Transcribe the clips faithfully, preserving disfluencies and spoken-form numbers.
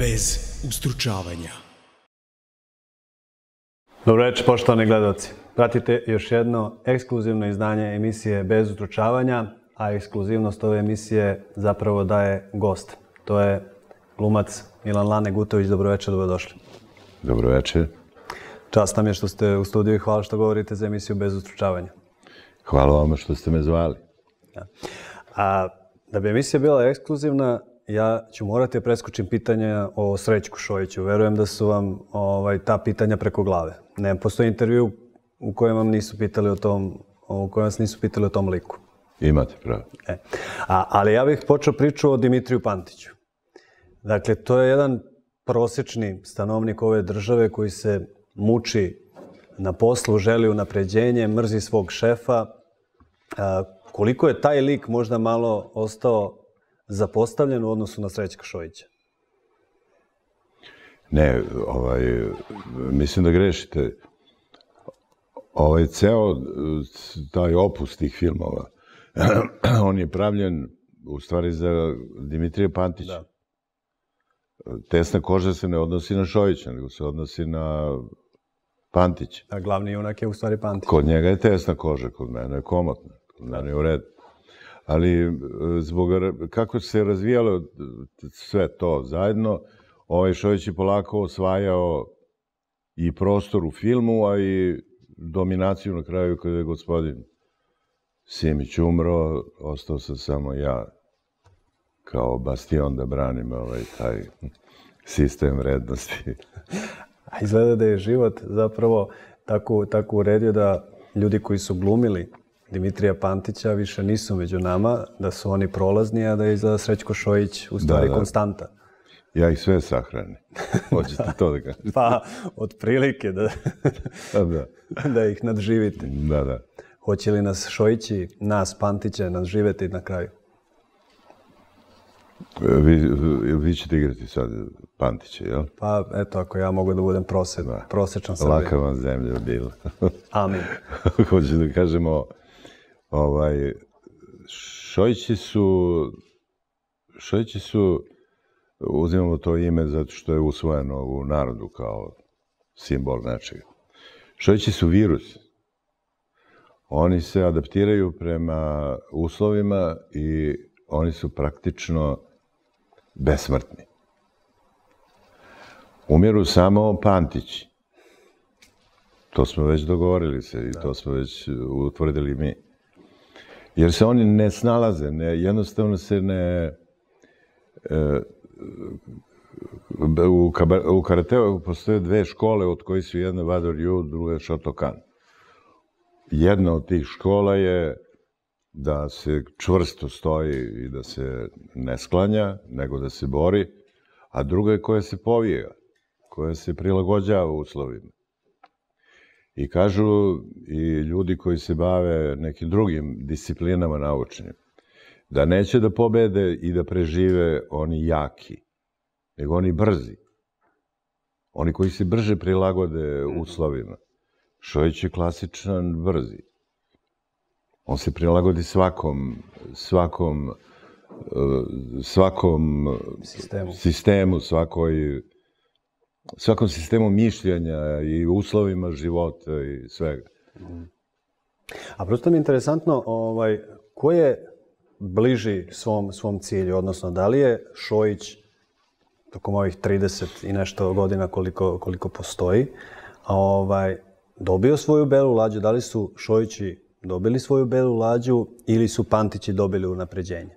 bez ustručavanja. Dobro večer, poštovani gledalci. Pratite još jedno ekskluzivno izdanje emisije Bez ustručavanja, a ekskluzivnost ove emisije zapravo daje gost. To je glumac Milan Lane Gutović. Dobro večer, dobrodošli. Dobro večer. Čast nam je što ste u studiju i hvala što govorite za emisiju Bez ustručavanja. Hvala vama što ste me zvali. Ja. A da bi emisija bila ekskluzivna, ja ću morati da preskočim pitanja o Srećku Šojiću. Verujem da su vam ovaj, ta pitanja preko glave. Ne postoji intervju u kojem vam nisu pitali o tom, u kojem vas nisu pitali o tom liku. Imate pravo. E. A, ali ja bih počeo priču o Dimitriju Pantiću. Dakle, to je jedan prosečni stanovnik ove države koji se muči na poslu, želi unapređenje, mrzi svog šefa. A, koliko je taj lik možda malo ostao zapostavljen u odnosu na Srećka Šojića? Ne, ovaj, mislim da grešite. Ovaj ceo taj opus tih filmova, on je pravljen u stvari za Dimitrija Pantića. Da. Tesna koža se ne odnosi na Šojića, nego se odnosi na Pantića. A glavni junak je u stvari Pantić. Kod njega je tesna koža, kod mene je komotna, kod mene je u redu. Ali zbog kako se razvijalo sve to zajedno, ovaj Šojić je polako osvajao i prostor u filmu, a i dominaciju na kraju kada je gospodin Simić umro, ostao sam samo ja kao bastion da branim ovaj taj sistem vrednosti. A izgleda da je život zapravo tako, tako uredio da ljudi koji su glumili Dimitrija Pantića više nisu među nama, da su oni prolazni, a da je izgleda Srećko Šojić u stvari da, da. konstanta. Ja ih sve sahranim. Hoćete to da kažete? Pa, otprilike da, da. da ih nadživite. Da, da. Hoće li nas Šojići, nas Pantiće, nadživeti na kraju? Vi, vi ćete igrati sad Pantiće, jel? Pa, eto, ako ja mogu da budem prosed, Da. prosečan Srbin. Laka vam zemlja bila. Amin. Hoću da kažemo, ovaj, Šojići su, Šojići su, uzimamo to ime zato što je usvojeno u narodu kao simbol nečega. Šojići su virus. Oni se adaptiraju prema uslovima i oni su praktično besmrtni. Umiru samo Pantići. To smo već dogovorili se i to smo već utvrdili mi. Jer se oni ne snalaze, ne, jednostavno se ne... E, u, u karateu postoje dve škole od kojih su jedna Wado Ryu, druga Shotokan. Jedna od tih škola je da se čvrsto stoji i da se ne sklanja, nego da se bori, a druga je koja se povija, koja se prilagođava uslovima. I kažu i ljudi koji se bave nekim drugim disciplinama naučnim, da neće da pobede i da prežive oni jaki, nego oni brzi. Oni koji se brže prilagode uslovima. Šojić je klasičan brzi. On se prilagodi svakom, svakom, svakom Sistemu. sistemu, svakoj, svakom sistemu mišljenja i uslovima života i svega. A prosto mi je interesantno, ovaj, ko je bliži svom, svom cilju, odnosno da li je Šojić tokom ovih trideset i nešto godina koliko, koliko postoji, a ovaj, dobio svoju belu lađu, da li su Šojići dobili svoju belu lađu ili su Pantići dobili unapređenje?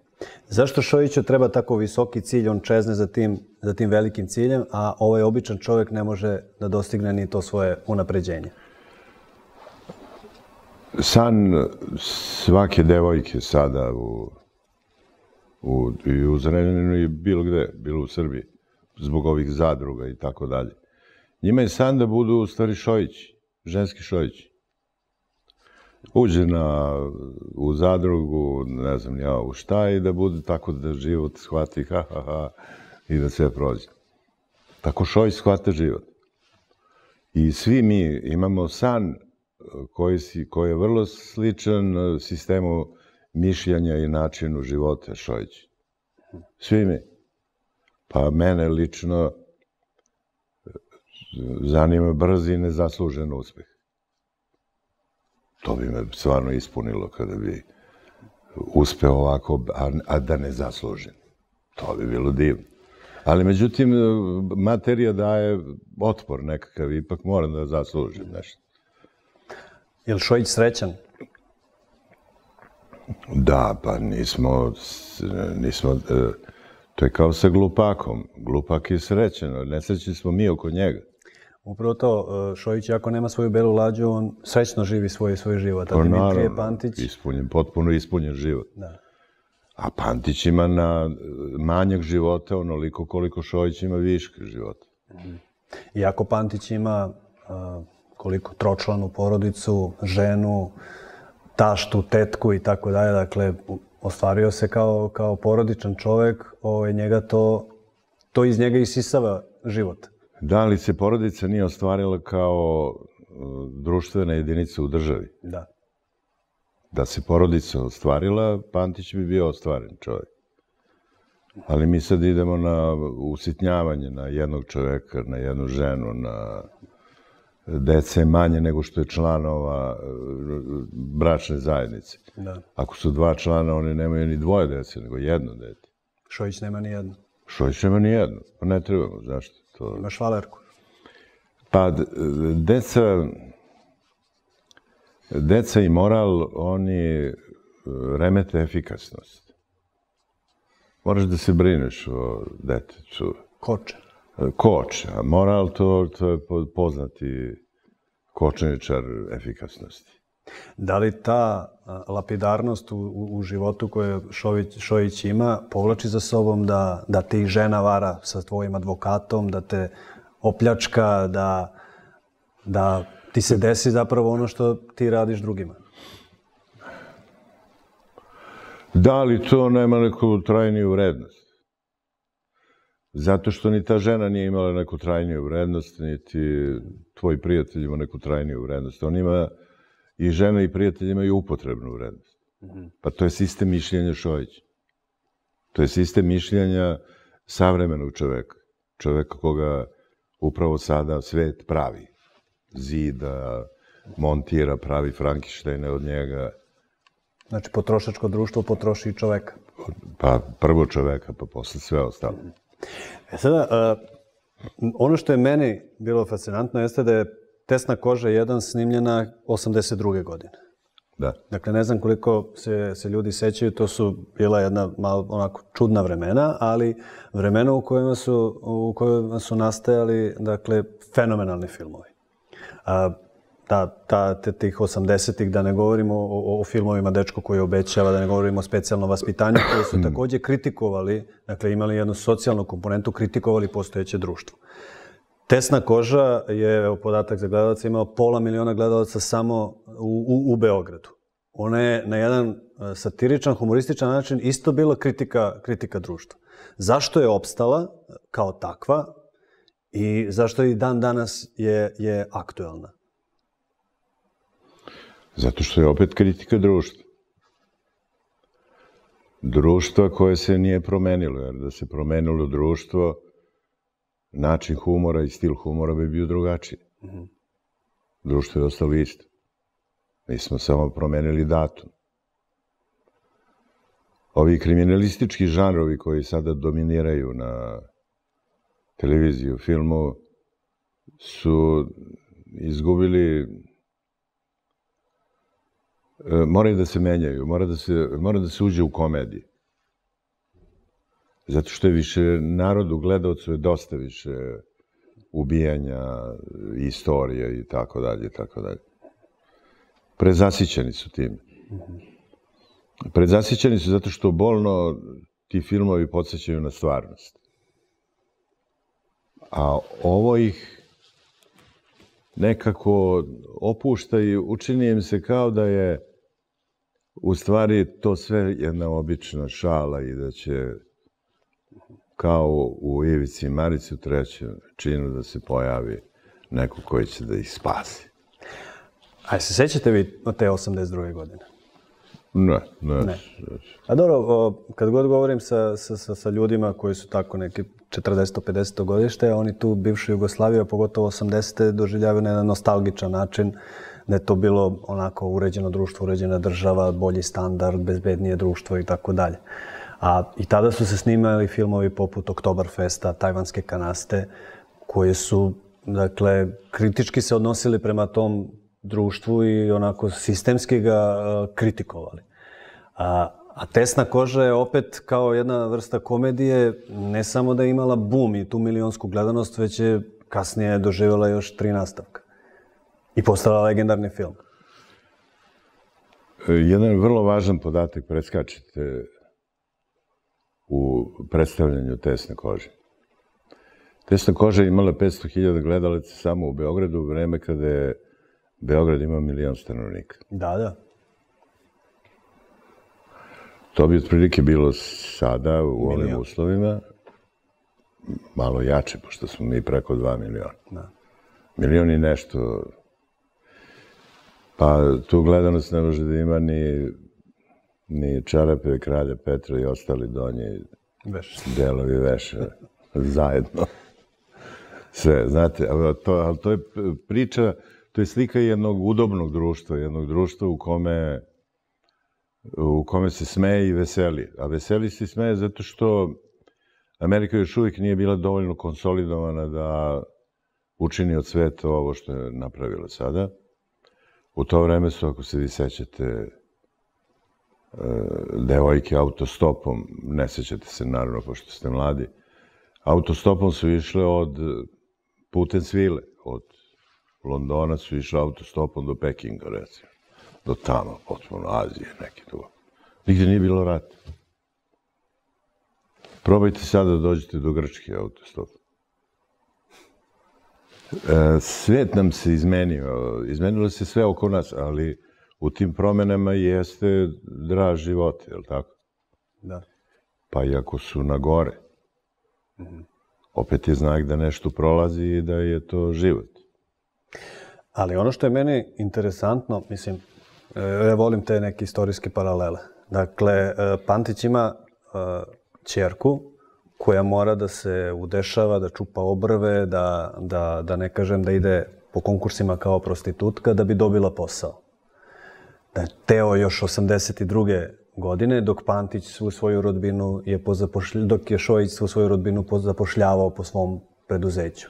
Zašto Šojiću treba tako visoki cilj, on čezne za tim, za tim velikim ciljem, a ovaj običan čovjek ne može da dostigne ni to svoje unapređenje? San svake devojke sada u, u, i u Zrenjaninu i bilo gde, bilo u Srbiji, zbog ovih zadruga i tako dalje. Njima je san da budu u stvari Šojići, ženski Šojići. Uđe na, u zadrugu, ne znam ja u šta, i da bude tako da život shvati ha, ha, ha, i da sve prođe. Tako Šojić shvata život. I svi mi imamo san koji, si, koji je vrlo sličan sistemu mišljenja i načinu života Šojić. Svi mi. Pa mene lično zanima brz i nezaslužen uspeh. To bi me stvarno ispunilo kada bi uspeo ovako, a, a da ne zaslužim. To bi bilo divno. Ali, međutim, materija daje otpor nekakav, ipak moram da zaslužim nešto. Je li Šojić srećan? Da, pa nismo, nismo, to je kao sa glupakom. Glupak je srećan, nesrećni smo mi oko njega. Upravo to, Šojić ako nema svoju belu lađu, on srećno živi svoj, svoj život. A Dimitrije Pantić... Ispunjen, potpuno ispunjen život. Da. A Pantić ima na manjak života onoliko koliko Šojić ima viška života. Iako Pantić ima uh, koliko tročlanu porodicu, ženu, taštu, tetku i tako dalje, dakle, ostvario se kao, kao porodičan čovek, ovaj, njega to, to iz njega isisava život. Da li se porodica nije ostvarila kao društvena jedinica u državi? Da. Da se porodica ostvarila, Pantić bi bio ostvaren čovjek. Ali mi sad idemo na usitnjavanje na jednog čoveka, na jednu ženu, na dece manje nego što je članova bračne zajednice. Da. Ako su dva člana, oni nemaju ni dvoje dece, nego jedno dete. Šojić nema ni jedno. Šojić nema ni jedno. Pa ne trebamo, zašto? To... Imaš Valerku. Pa, deca... Deca i moral, oni remete efikasnost. Moraš da se brineš o detetu. Koče. Koče, a moral to, to je poznati kočeničar efikasnosti. Da li ta lapidarnost u, u, u životu koju Šojić, Šojić ima povlači za sobom da, da te i žena vara sa tvojim advokatom, da te opljačka, da, da ti se desi zapravo ono što ti radiš drugima? Da li to nema neku trajniju vrednost? Zato što ni ta žena nije imala neku trajniju vrednost, niti tvoj prijatelj ima neku trajniju vrednost. On ima, i žena i prijatelj imaju upotrebnu vrednost. Pa to je sistem mišljenja Šojića. To je sistem mišljenja savremenog čoveka. Čoveka koga upravo sada svet pravi. Zida, montira, pravi Frankensteine od njega. Znači, potrošačko društvo potroši i čoveka. Pa prvo čoveka, pa posle sve ostalo. E sada, uh, ono što je meni bilo fascinantno jeste da je Tesna koža jedan snimljena osamdeset druge godine. Da. Dakle, ne znam koliko se, se ljudi sećaju, to su bila jedna malo onako čudna vremena, ali vremena u kojima su, u kojima su nastajali, dakle, fenomenalni filmovi. A, ta, ta, te, tih osamdesetih, da ne govorimo o, o, o filmovima Dečko koji obećava, da ne govorimo o specijalnom vaspitanju, koji su također kritikovali, dakle, imali jednu socijalnu komponentu, kritikovali postojeće društvo. Tesna koža je, evo, podatak za gledalce, imao pola miliona gledalaca samo u, u, u Beogradu. Ona je na jedan satiričan, humorističan način isto bila kritika, kritika društva. Zašto je opstala kao takva i zašto i dan danas je, je aktuelna? Zato što je opet kritika društva. Društva koje se nije promenilo, jer da se promenilo društvo, način humora i stil humora bi bio drugačiji. Mm-hmm. Društvo je ostalo isto. Mi smo samo promenili datum. Ovi kriminalistički žanrovi koji sada dominiraju na televiziji, u filmu, su izgubili... Moraju da se menjaju, mora da se, mora da se uđe u komediju. Zato što je više narodu, gledalcu je dosta više ubijanja, istorija i tako dalje, i tako dalje. Prezasićeni su tim. Prezasićeni su zato što bolno ti filmovi podsjećaju na stvarnost. A ovo ih nekako opušta i učini im se kao da je u stvari to sve jedna obična šala i da će kao u Ivici i Marici u trećem činu da se pojavi neko koji će da ih spasi. A se sećate vi od te osamdeset druge godine? Ne, ne. Ne. A dobro, o, kad god govorim sa, sa, sa, sa ljudima koji su tako neki četrdeseto pedeseto godište, oni tu bivšu Jugoslaviju, a pogotovo osamdesete doživljavaju na jedan nostalgičan način, da je to bilo onako uređeno društvo, uređena država, bolji standard, bezbednije društvo i tako dalje. A i tada su se snimali filmovi poput Oktoberfesta, Tajvanske kanaste, koje su, dakle, kritički se odnosili prema tom društvu i onako sistemski ga uh, kritikovali. A, a Tesna koža je opet kao jedna vrsta komedije, ne samo da je imala bum i tu milionsku gledanost, već je kasnije doživjela još tri nastavka. I postala legendarni film. Jedan vrlo važan podatak preskačete u predstavljanju Tesne kože. Tesna koža je imala petsto hiljada gledalaca samo u Beogradu u vreme kada je Beograd ima milion stanovnika. Da, da. To bi otprilike bilo sada u ovim Milion. uslovima malo jače, pošto smo mi preko dva miliona. Da. Milion i nešto. Pa tu gledanost ne može da ima ni, ni Čarape, Kralja Petra i ostali donji Veš. delovi veša zajedno. Sve, znate, ali to, ali to je priča, to je slika jednog udobnog društva, jednog društva u kome, u kome se smeje i veseli. A veseli se i smeje zato što Amerika još uvijek nije bila dovoljno konsolidovana da učini od sveta ovo što je napravila sada. U to vreme su, ako se vi sećate, devojke autostopom, ne sećate se naravno pošto ste mladi, autostopom su išle od putem svile, od Londona su išle autostopom do Pekinga, recimo. Do tamo, potpuno Azije, neki tu. Nigde nije bilo rata. Probajte sada da dođete do Grčke autostopom. Svet nam se izmenio, izmenilo se sve oko nas, ali u tim promenama jeste draž života, je li tako? Da. Pa i ako su na gore, opet je znak da nešto prolazi i da je to život. Ali ono što je meni interesantno, mislim, ja volim te neke istorijske paralele. Dakle, Pantić ima ćerku koja mora da se udešava, da čupa obrve, da, da, da ne kažem da ide po konkursima kao prostitutka da bi dobila posao. Da je Teo još osamdeset druge godine, dok Pantić svu svoju rodbinu je pozapošljavao, dok je Šojić svu svoju rodbinu zapošljavao po svom preduzeću.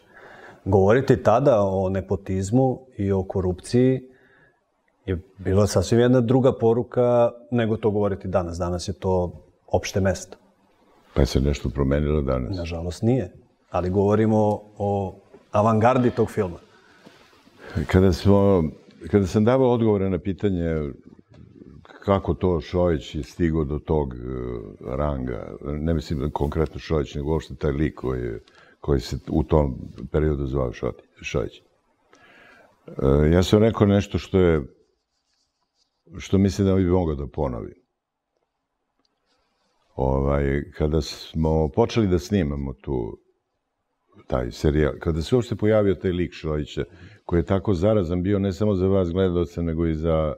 Govoriti tada o nepotizmu i o korupciji je bila sasvim jedna druga poruka nego to govoriti danas. Danas je to opšte mesto. Pa je se nešto promenilo danas? Nažalost nije, ali govorimo o avangardi tog filma. Kada, smo, kada sam davao odgovore na pitanje kako to Šojić je stigao do tog ranga, ne mislim konkretno Šojić, nego uopšte taj lik koji, koji se u tom periodu zvao Šojić. Ja sam rekao nešto što je, što mislim da bi mogao da ponovim. Ovaj, kada smo počeli da snimamo tu taj serijal, kada se uopšte pojavio taj lik Šojića, koji je tako zarazan bio ne samo za vas gledalce, nego i za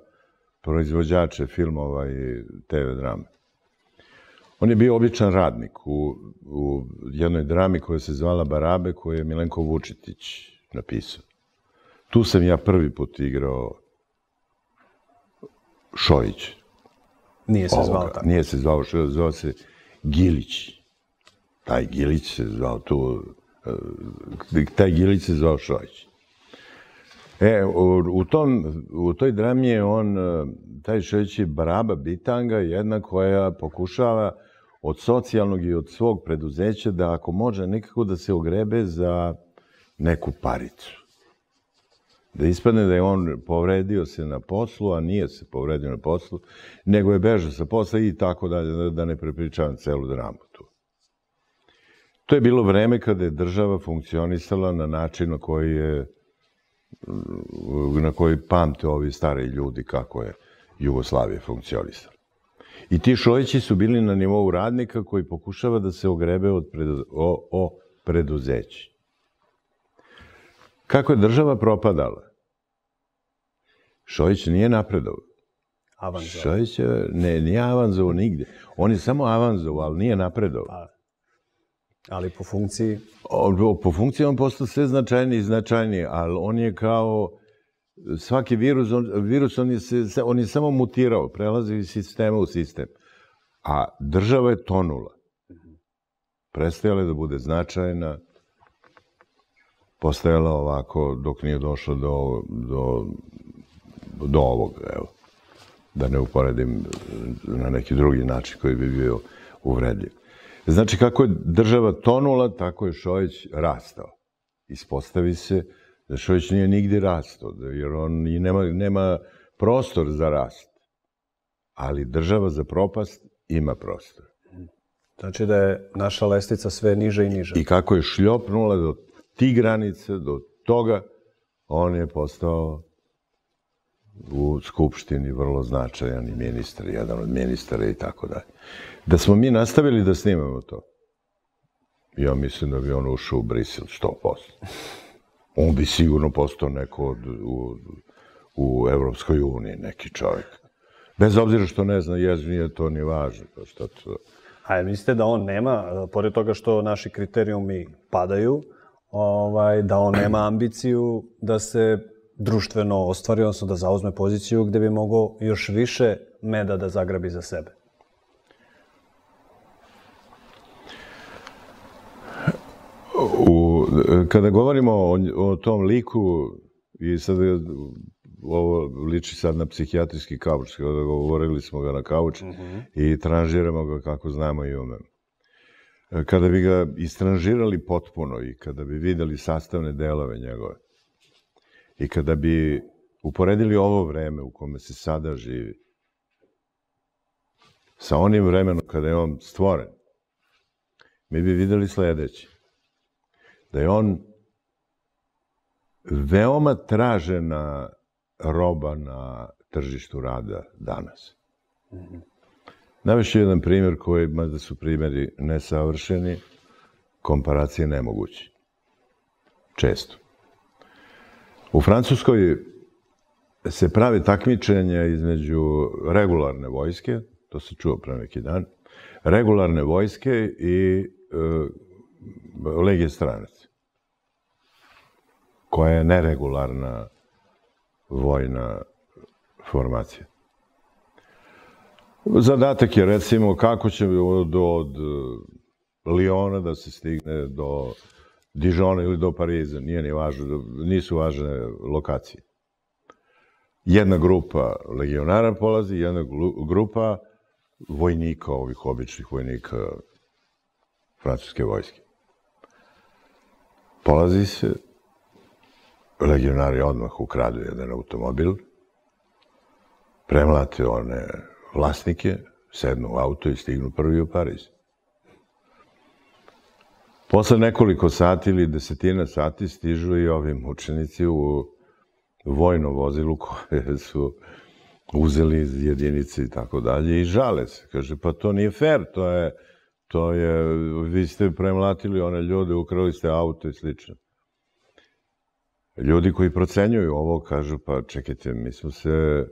proizvođače filmova i te ve drame. On je bio običan radnik u, u jednoj drami koja se zvala Barabe, koju je Milenko Vučetić napisao. Tu sam ja prvi put igrao Šojić. Nije se zvao tako. Nije se zvao Šojić, zvao se Gilić. Taj Gilić se zvao tu, taj Gilić se zvao Šojić. E, u, u, tom, u toj drami je on, taj Šojić je Baraba bitanga, jedna koja pokušava od socijalnog i od svog preduzeća da ako može nekako da se ogrebe za neku paricu. Da ispadne da je on povredio se na poslu, a nije se povredio na poslu, nego je bežao sa posla i tako dalje, da ne prepričavam celu dramu tu. To je bilo vreme kada je država funkcionisala na način na koji je na koji pamte ovi stari ljudi kako je Jugoslavija funkcionisala. I ti Šojići su bili na nivou radnika koji pokušava da se ogrebe od predu, o, o preduzeći. Kako je država propadala? Šojić nije napredovao. Avanzovao. Šojić je, ne, nije avanzovao nigdje. On je samo avanzovao, ali nije napredovao. Pa, ali po funkciji? O, po funkciji on postao sve značajniji i značajniji, ali on je kao svaki virus, on, virus on je, se, on je samo mutirao, prelazi iz sistema u sistem. A država je tonula. Prestajala je da bude značajna, postajala ovako dok nije došlo do, do, do ovog, evo. Da ne uporedim na neki drugi način koji bi bio uvredljiv. Znači, kako je država tonula, tako je Šojić rastao. Ispostavi se da Šojić nije nigdje rastao, jer on i nema, nema prostor za rast. Ali država za propast ima prostor. Znači da je naša lestica sve niže i niže. I kako je šljopnula do tih granica, do toga, on je postao u Skupštini vrlo značajan i ministar, jedan od ministara i tako dalje. Da smo mi nastavili da snimamo to, ja mislim da bi on ušao u Brisel sto posto. On bi sigurno postao neko od, u, u Evropskoj uniji, neki čovjek. Bez obzira što ne zna jezik, nije to ni važno. Što to... A mislite da on nema, pored toga što naši kriterijumi padaju, ovaj, da on nema ambiciju da se društveno ostvari, odnosno da zauzme poziciju gde bi mogao još više meda da zagrabi za sebe? U, kada govorimo o, o tom liku, i sad ovo liči sad na psihijatrijski kauč, kada govorili smo ga na kauč mm-hmm. i tranžiramo ga kako znamo i umemo. Kada bi ga istranžirali potpuno i kada bi videli sastavne delove njegove i kada bi uporedili ovo vreme u kome se sada živi sa onim vremenom kada je on stvoren, mi bi videli sledeće. Da je on veoma tražena roba na tržištu rada danas. Mm-hmm. Navešću jedan primjer koji, mada su primjeri nesavršeni, komparacije nemoguće. Često. U Francuskoj se pravi takmičenje između regularne vojske, to se čuo pre neki dan, regularne vojske i e, legije stranaca, koja je neregularna vojna formacija. Zadatak je, recimo, kako će od, od Liona da se stigne do Dijona ili do Pariza, nije ni važno, nisu važne lokacije. Jedna grupa legionara polazi, jedna grupa vojnika, ovih običnih vojnika francuske vojske. Polazi se, legionari odmah ukradu jedan automobil, premlate one vlasnike, sednu u auto i stignu prvi u Pariz. Posle nekoliko sati ili desetina sati stižu i ovi mučenici u vojno vozilu koje su uzeli iz jedinice i tako dalje i žale se. Kaže, pa to nije fair, to je, to je, vi ste premlatili one ljude, ukrali ste auto i slično. Ljudi koji procenjuju ovo kažu, pa čekajte, mi smo se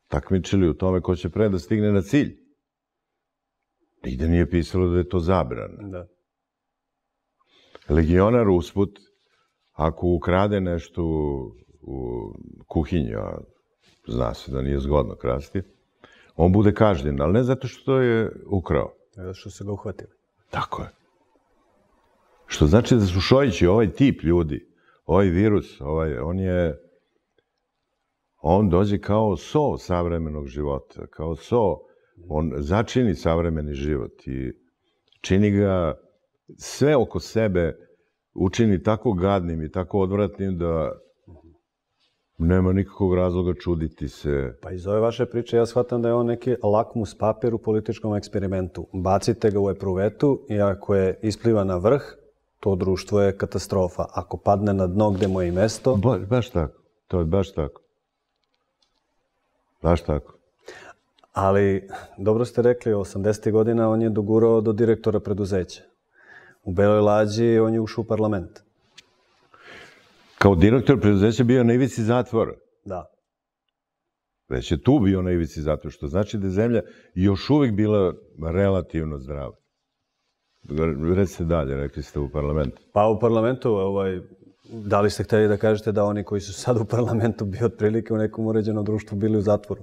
takmičili u tome ko će pre da stigne na cilj. Nigde nije pisalo da je to zabrana. Da. Legionar usput, ako ukrade nešto u, u kuhinji, a zna se da nije zgodno krasti, on bude kažnjen, ali ne zato što je ukrao. Zato što se ga uhvatili. Tako je. Što znači da su Šojići, ovaj tip ljudi, ovaj virus, ovaj, on je, on dođe kao so savremenog života, kao so, on začini savremeni život i čini ga sve oko sebe, učini tako gadnim i tako odvratnim da nema nikakvog razloga čuditi se. Pa iz ove vaše priče ja shvatam da je on neki lakmus papir u političkom eksperimentu. Bacite ga u epruvetu i ako je ispliva na vrh, to društvo je katastrofa. Ako padne na dno gde mu je i mesto... Ba, baš tako. To je baš tako. Baš tako. Ali, dobro ste rekli, osamdesetih godina on je dogurao do direktora preduzeća. U Beloj lađi on je ušao u parlament. Kao direktor preduzeća bio na ivici zatvora. Da. Već je tu bio na ivici zato što znači da je zemlja još uvijek bila relativno zdrava. Recite dalje, rekli ste u parlamentu. Pa u parlamentu, ovaj, da li ste hteli da kažete da oni koji su sad u parlamentu bi otprilike u nekom uređenom društvu bili u zatvoru?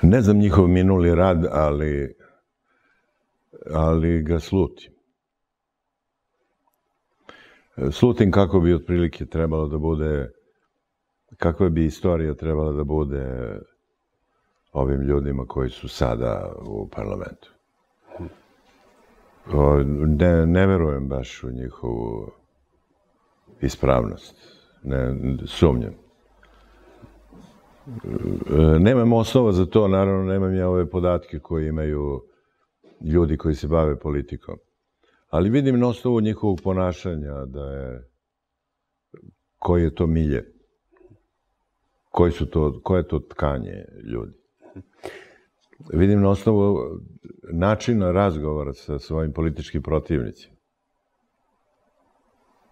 Ne znam njihov minuli rad, ali, ali ga slutim. Slutim kako bi otprilike trebalo da bude, kakva bi istorija trebala da bude ovim ljudima koji su sada u parlamentu. Ne, ne verujem baš u njihovu ispravnost. Ne, sumnjam. Nemam osnova za to, naravno nemam ja ove podatke koje imaju ljudi koji se bave politikom. Ali vidim na osnovu njihovog ponašanja da je, koji je to milje, koji su to, koje je to tkanje ljudi. Vidim na osnovu načina razgovora sa svojim političkim protivnicima.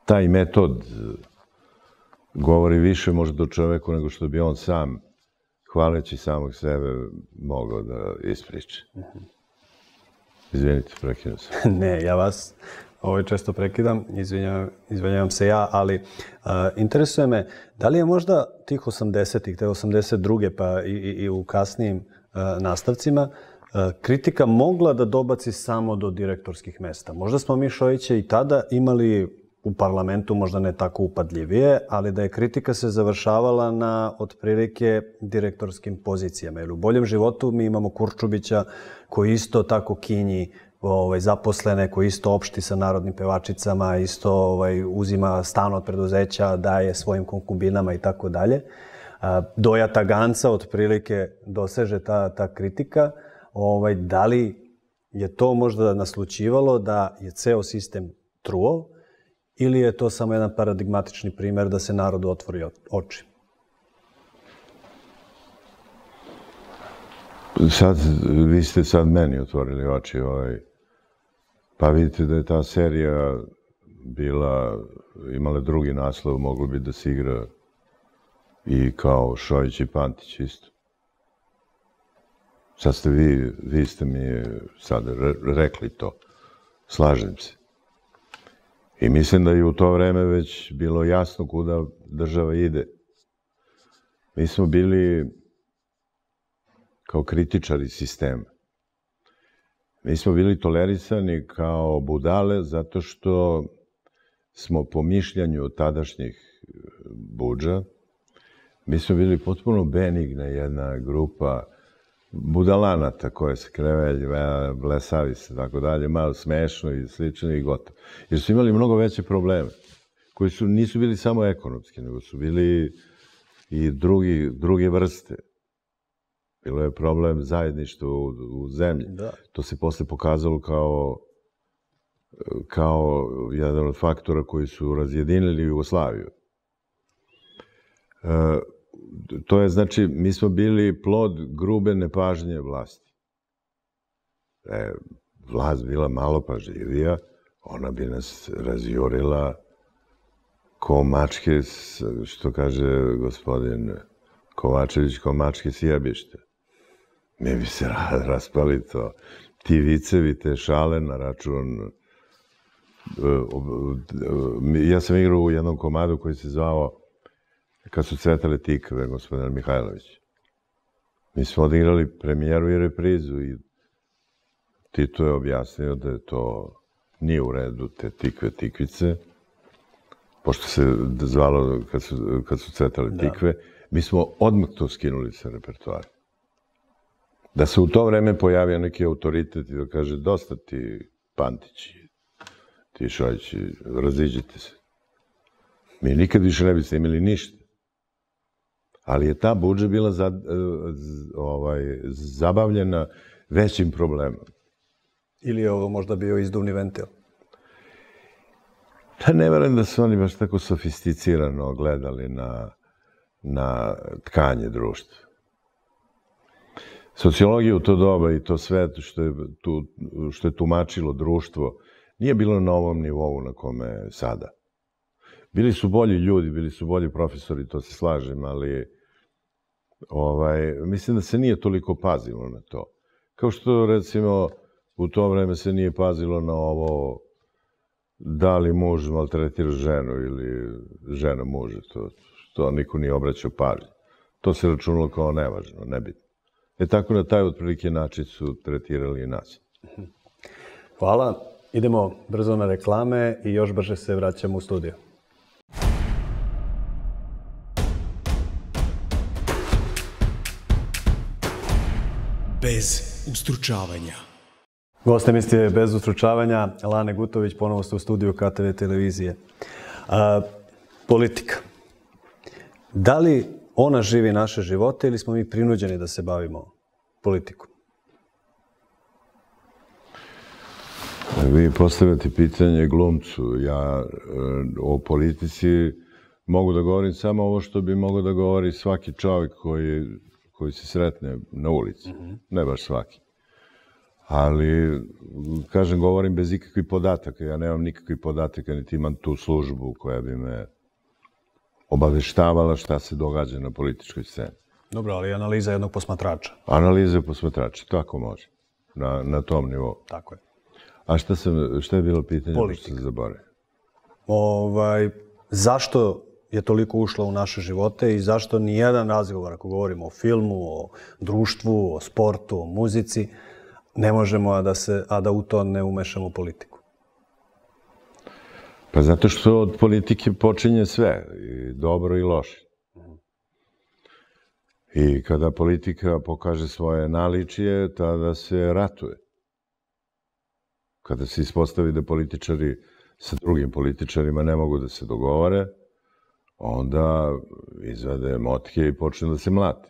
Taj metod govori više možda o čoveku nego što bi on sam, hvaleći samog sebe, mogao da ispriča. Izvinite, prekidam se. Ne, ja vas ovaj često prekidam, izvinjavam, izvinjavam se ja, ali uh, interesuje me, da li je možda tih osamdesetih, te osamdeset druge pa i, i, i u kasnijim uh, nastavcima, uh, kritika mogla da dobaci samo do direktorskih mesta. Možda smo mi Šojića i tada imali u parlamentu, možda ne tako upadljivije, ali da je kritika se završavala na otprilike direktorskim pozicijama. Jer u Boljem životu mi imamo Kurčubića koji isto tako kinji ovaj, zaposlene, koji isto opšti sa narodnim pevačicama, isto ovaj, uzima stan od preduzeća, daje svojim konkubinama i tako dalje. Doja Taganca otprilike doseže ta, ta kritika. Ovaj, da li je to možda naslućivalo da je ceo sistem truo, ili je to samo jedan paradigmatični primer da se narodu otvori oči? Sad, vi ste sad meni otvorili oči. Ovaj. Pa vidite da je ta serija bila, imala drugi naslov, moglo bi da se igra i kao Šojić i Pantić isto. Sad ste vi, vi ste mi sad rekli to. Slažem se. I mislim da je u to vreme već bilo jasno kuda država ide. Mi smo bili kao kritičari sistema. Mi smo bili tolerisani kao budale zato što smo po mišljenju tadašnjih budža, mi smo bili potpuno benigna jedna grupa budalanata koje se krevelji, blesavi se, tako dalje, malo smešno i slično i gotovo. Jer su imali mnogo veće probleme, koji su, nisu bili samo ekonomski, nego su bili i drugi, druge vrste. Bilo je problem zajedništva u, u zemlji. Da. To se posle pokazalo kao, kao jedan od faktora koji su razjedinili Jugoslaviju. E, To je, znači, mi smo bili plod grube nepažnje vlasti. Da je vlast bila malo pažljivija, ona bi nas razjurila ko mačke, što kaže gospodin Kovačević, ko mačke s jebište. Mi bi se raspali to. Ti vicevi, te šale na račun... Ja sam igrao u jednom komadu koji se zvao Kad su cvetale tikve, gospodin Mihajlović. Mi smo odigrali premijeru i reprizu i Tito je objasnio da je to nije u redu, te tikve, tikvice, pošto se zvalo kad su, kad su cvetale tikve, da. Mi smo odmah to skinuli sa repertoara. Da se u to vreme pojavio neki autoritet i da kaže dosta ti Pantići, ti Šojići, raziđite se. Mi nikad više ne biste imali ništa. Ali je ta budža bila za, ovaj, zabavljena većim problemom. Ili je ovo možda bio izduvni ventil? Da, ne verujem da su oni baš tako sofisticirano gledali na, na tkanje društva. Sociologija u to doba i to sve što je, tu, što je tumačilo društvo nije bilo na ovom nivou na kome je sada. Bili su bolji ljudi, bili su bolji profesori, to se slažem, ali ovaj, mislim da se nije toliko pazilo na to. Kao što, recimo, u to vreme se nije pazilo na ovo da li muž maltretira ženu ili žena muža. To, to niko nije obraćao pažnju. To se računalo kao nevažno, nebitno. E tako na taj otprilike način su tretirali i nas. Hvala. Idemo brzo na reklame i još brže se vraćamo u studiju. Bez ustručavanja. Gost emisije Bez ustručavanja, Lane Gutović, ponovo ste u studiju K T V televizije. A, politika. Da li ona živi naše živote ili smo mi prinuđeni da se bavimo politikom? Vi postavljate pitanje glumcu. Ja o politici mogu da govorim samo ovo što bi mogao da govori svaki čovjek koji, koji se sretne na ulici. Mm-hmm. Ne baš svaki. Ali, kažem, govorim bez ikakvih podataka. Ja nemam nikakvih podataka, niti imam tu službu koja bi me obaveštavala šta se događa na političkoj sceni. Dobro, ali analiza jednog posmatrača. Analiza politika, tako može. Na, na tom nivou. Tako je. A šta, sam, šta je bilo pitanje? Politika. Što se zaboravio? Ovaj, zašto je toliko ušla u naše živote i zašto nijedan razgovor, ako govorimo o filmu, o društvu, o sportu, o muzici, ne možemo, a da, se, a da u to ne umešamo politiku? Pa zato što od politike počinje sve, i dobro i loše. I kada politika pokaže svoje naličije, tada se ratuje. Kada se ispostavi da političari sa drugim političarima ne mogu da se dogovore, onda izvade motke i počne da se mlati.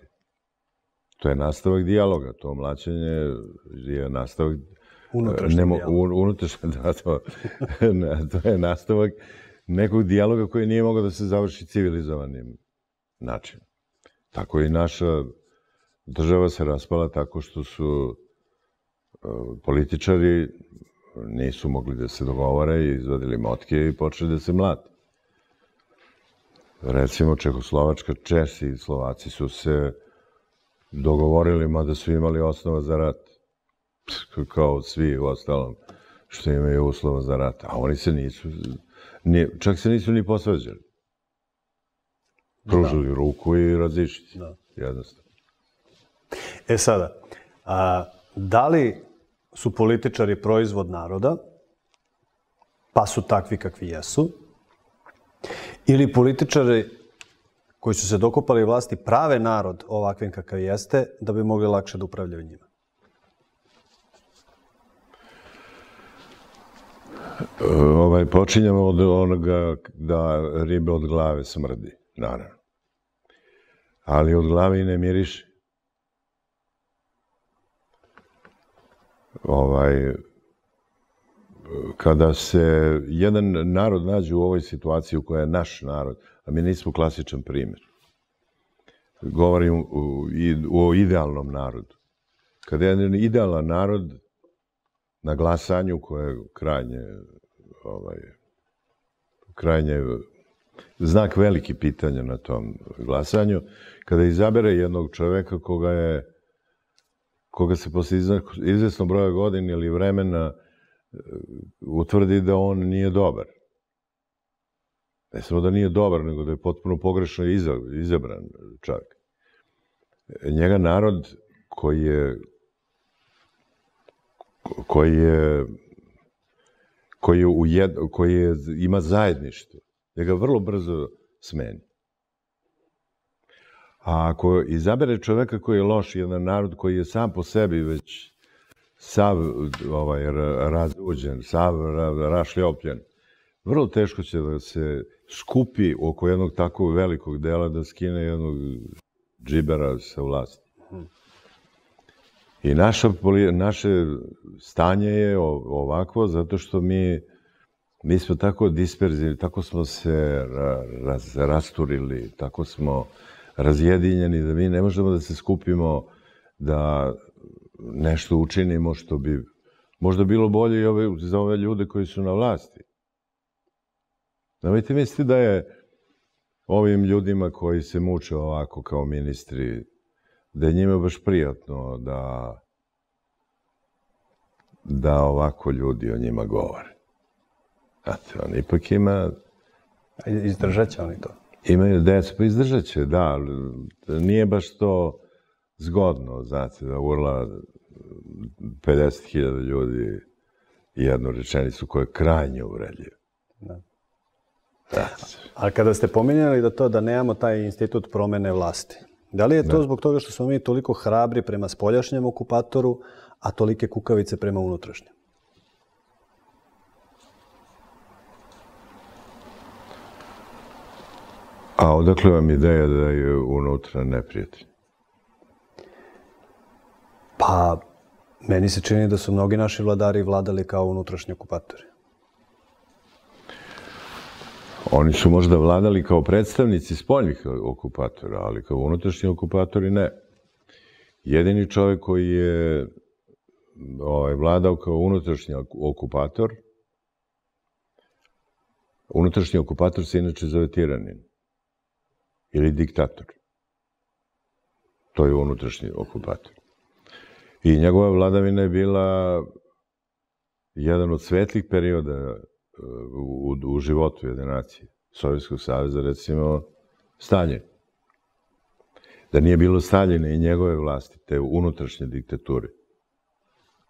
To je nastavak dijaloga, to mlaćenje je nastavak... Unutrašnji nemo, dijalog. Unutrašnji, da, to, ne, to je nastavak nekog dijaloga koji nije mogao da se završi civilizovanim načinom. Tako i naša država se raspala tako što su uh, političari nisu mogli da se dogovore i izvadili motke i počeli da se mlati. Recimo, Čehoslovačka, Česi i Slovaci su se dogovorili, mada su imali osnova za rat. Kao svi u ostalom što imaju uslova za rat. A oni se nisu, ni, čak se nisu ni posvađali. Pružili da. ruku i razišli se. Da. Jednostavno. E sada, a, da li su političari proizvod naroda, pa su takvi kakvi jesu, ili političari koji su se dokopali vlasti prave narod ovakvim kakav jeste, da bi mogli lakše da upravljaju njima? Ovaj, počinjamo od onoga da ribe od glave smrdi, naravno. Ali od glave i ne miriši. Ovaj, kada se jedan narod nađe u ovoj situaciji u kojoj je naš narod, a mi nismo klasičan primjer, govorim o idealnom narodu. Kada je jedan idealan narod na glasanju koje je krajnje, ovaj, krajnje znak veliki pitanja na tom glasanju, kada izabere jednog čoveka koga je koga se posle izvesnog broja godina ili vremena utvrdi da on nije dobar. Ne samo da nije dobar, nego da je potpuno pogrešno izabran čovjek. Njega narod koji je koji je koji, je ujed, koji je, ima zajedništvo, njega vrlo brzo smeni. A ako izabere čoveka koji je loš, jedan narod koji je sam po sebi već sav ovaj, razuđen, sav rašljopljen, vrlo teško će da se skupi oko jednog takvog velikog dela da skine jednog džibera sa vlasti. I naša, naše stanje je ovakvo zato što mi, mi smo tako disperzivni, tako smo se raz, rasturili, tako smo razjedinjeni da mi ne možemo da se skupimo da nešto učinimo što bi možda bilo bolje i ove, za ove ljude koji su na vlasti. Nemojte misliti da je ovim ljudima koji se muče ovako kao ministri, da je njima baš prijatno da, da ovako ljudi o njima govore. Znate, on ipak ima... Izdržat će oni to. Imaju decu, pa izdržat će, da. Nije baš to zgodno, znate, da urla pedeset hiljada ljudi jednu rečenicu koja je krajnje uvredljiva. Da. A kada ste pominjali da to da nemamo taj institut promene vlasti, da li je to zbog toga što smo mi toliko hrabri prema spoljašnjem okupatoru, a tolike kukavice prema unutrašnjem? A odakle vam ideja da je unutra neprijatelj? Pa, meni se čini da su mnogi naši vladari vladali kao unutrašnji okupatori. Oni su možda vladali kao predstavnici spoljnih okupatora, ali kao unutrašnji okupatori ne. Jedini čovjek koji je ovaj, vladao kao unutrašnji okupator, unutrašnji okupator se inače zove tiranin ili diktator. To je unutrašnji okupator. I njegova vladavina je bila jedan od svetlih perioda u, u životu jedne nacije. Sovjetskog saveza, recimo, Staljin. Da nije bilo Staljina i njegove vlasti, te unutrašnje diktature,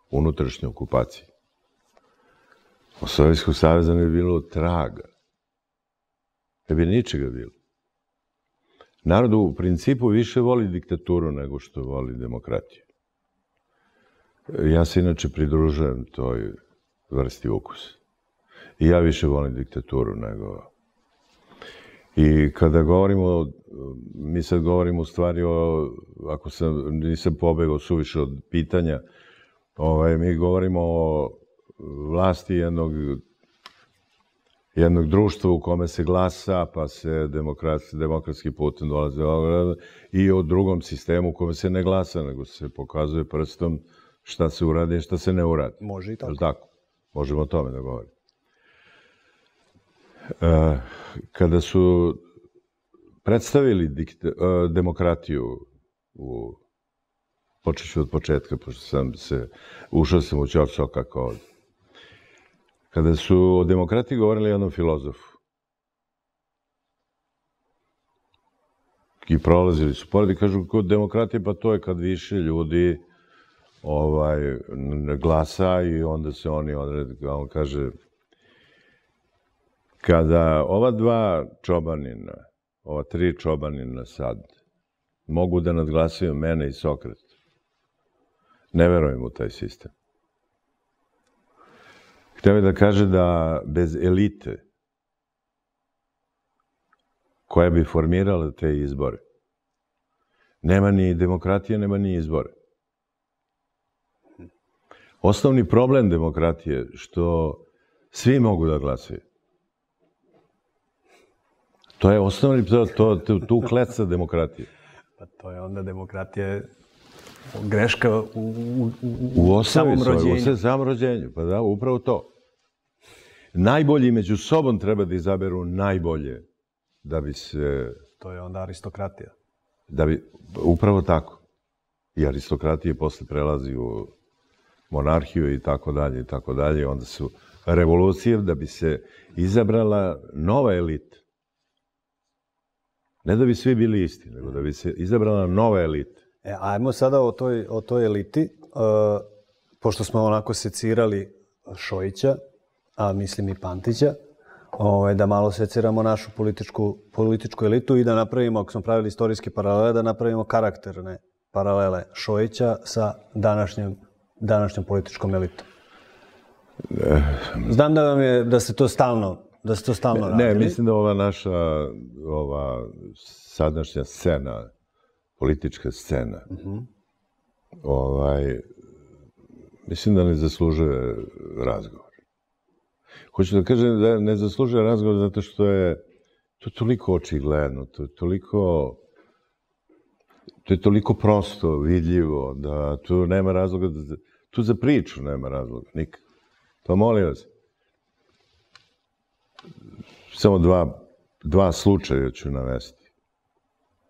unutrašnje okupacije. Od Sovjetskog saveza ne bi bilo traga. Ne bi ničega bilo. Narod u principu više voli diktaturu nego što voli demokratiju. Ja se inače pridružujem toj vrsti ukusa. I ja više volim diktaturu nego... I kada govorimo, mi sad govorimo u stvari o, ako sam, nisam pobegao suviše od pitanja, ovaj, mi govorimo o vlasti jednog, jednog društva u kome se glasa, pa se demokratski, demokratski putem dolaze i o drugom sistemu u kome se ne glasa, nego se pokazuje prstom šta se uradi i šta se ne uradi. Može i tako. Tako? Možemo o tome da govorimo. Uh, kada su predstavili dikta, uh, demokratiju, u, počet ću od početka, pošto sam se, ušao sam u ćor soka kao ovdje. Kada su o demokratiji govorili jednom filozofu i prolazili su pored i kažu, kod demokratije, pa to je kad više ljudi ovaj, glasa i onda se oni odrede, on kaže, kada ova dva čobanina, ova tri čobanina sad, mogu da nadglasaju mene i Sokrata, ne verujem u taj sistem. Htio je da kaže da bez elite koja bi formirala te izbore, nema ni demokratije, nema ni izbore. Osnovni problem demokratije je što svi mogu da glasaju. To je osnovni, to, to, to, tu kleca demokratije. Pa to je onda demokratija greška u, u, u, u samom rođenju. U samom rođenju, pa da, upravo to. Najbolji među sobom treba da izaberu najbolje da bi se... To je onda aristokratija. Da bi, upravo tako. I aristokratije posle prelazi u monarhiju i tako dalje i tako dalje. Onda su revolucije da bi se izabrala nova elita. Ne da bi svi bili isti, nego da bi se izabrala nova elita. E, ajmo sada o toj, o toj eliti, uh, pošto smo onako secirali Šojića, a mislim i Pantića, ovaj, da malo seciramo našu političku, političku elitu i da napravimo, ako smo pravili istorijske paralele, da napravimo karakterne paralele Šojića sa današnjom, današnjom političkom elitom. Znam da vam je, da se to stalno, da se to stalno radili. Ne, mislim da ova naša, ova sadašnja scena, politička scena, uh-huh. ovaj, mislim da ne zaslužuje razgovor. Hoću da kažem da ne zaslužuje razgovor zato što je to toliko očigledno, to je toliko, to je toliko prosto, vidljivo, da tu nema razloga, da, tu za priču nema razloga, nikak. Pa molim vas, samo dva, dva slučaja ću navesti,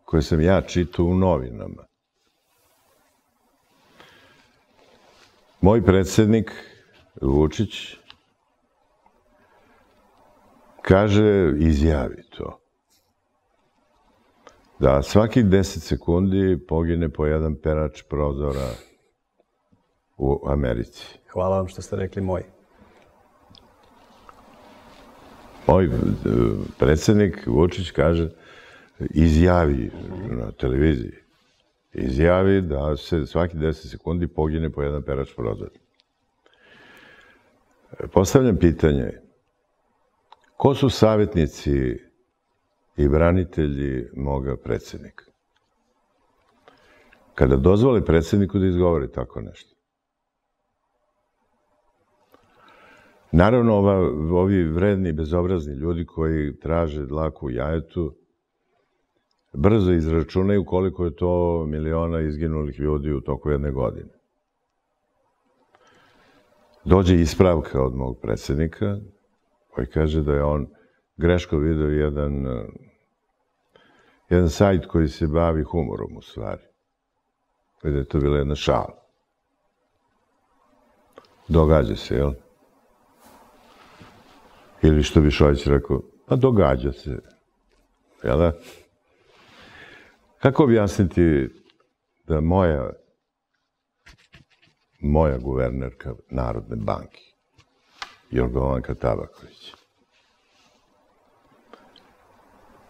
koje sam ja čitao u novinama. Moj predsjednik, Vučić, kaže, izjavi to, da svakih deset sekundi pogine po jedan perač prozora u Americi. Hvala vam što ste rekli moj. Moj predsjednik Vučić kaže, izjavi na televiziji, izjavi da se svaki deset sekundi pogine po jedan perač prozora. Postavljam pitanje, ko su savjetnici i branitelji moga predsjednika? Kada dozvole predsjedniku da izgovori tako nešto. Naravno, ova, ovi vredni, bezobrazni ljudi koji traže dlaku u jajetu, brzo izračunaju koliko je to miliona izginulih ljudi u toku jedne godine. Dođe ispravka od mog predsjednika, koji kaže da je on greško video jedan, jedan sajt koji se bavi humorom u stvari. Da je to bila jedna šala. Događa se, jel? Ili što bi Šojić rekao, pa događa se. Jel da? Kako objasniti da moja, moja guvernerka Narodne banke, Jorgovanka Tabaković,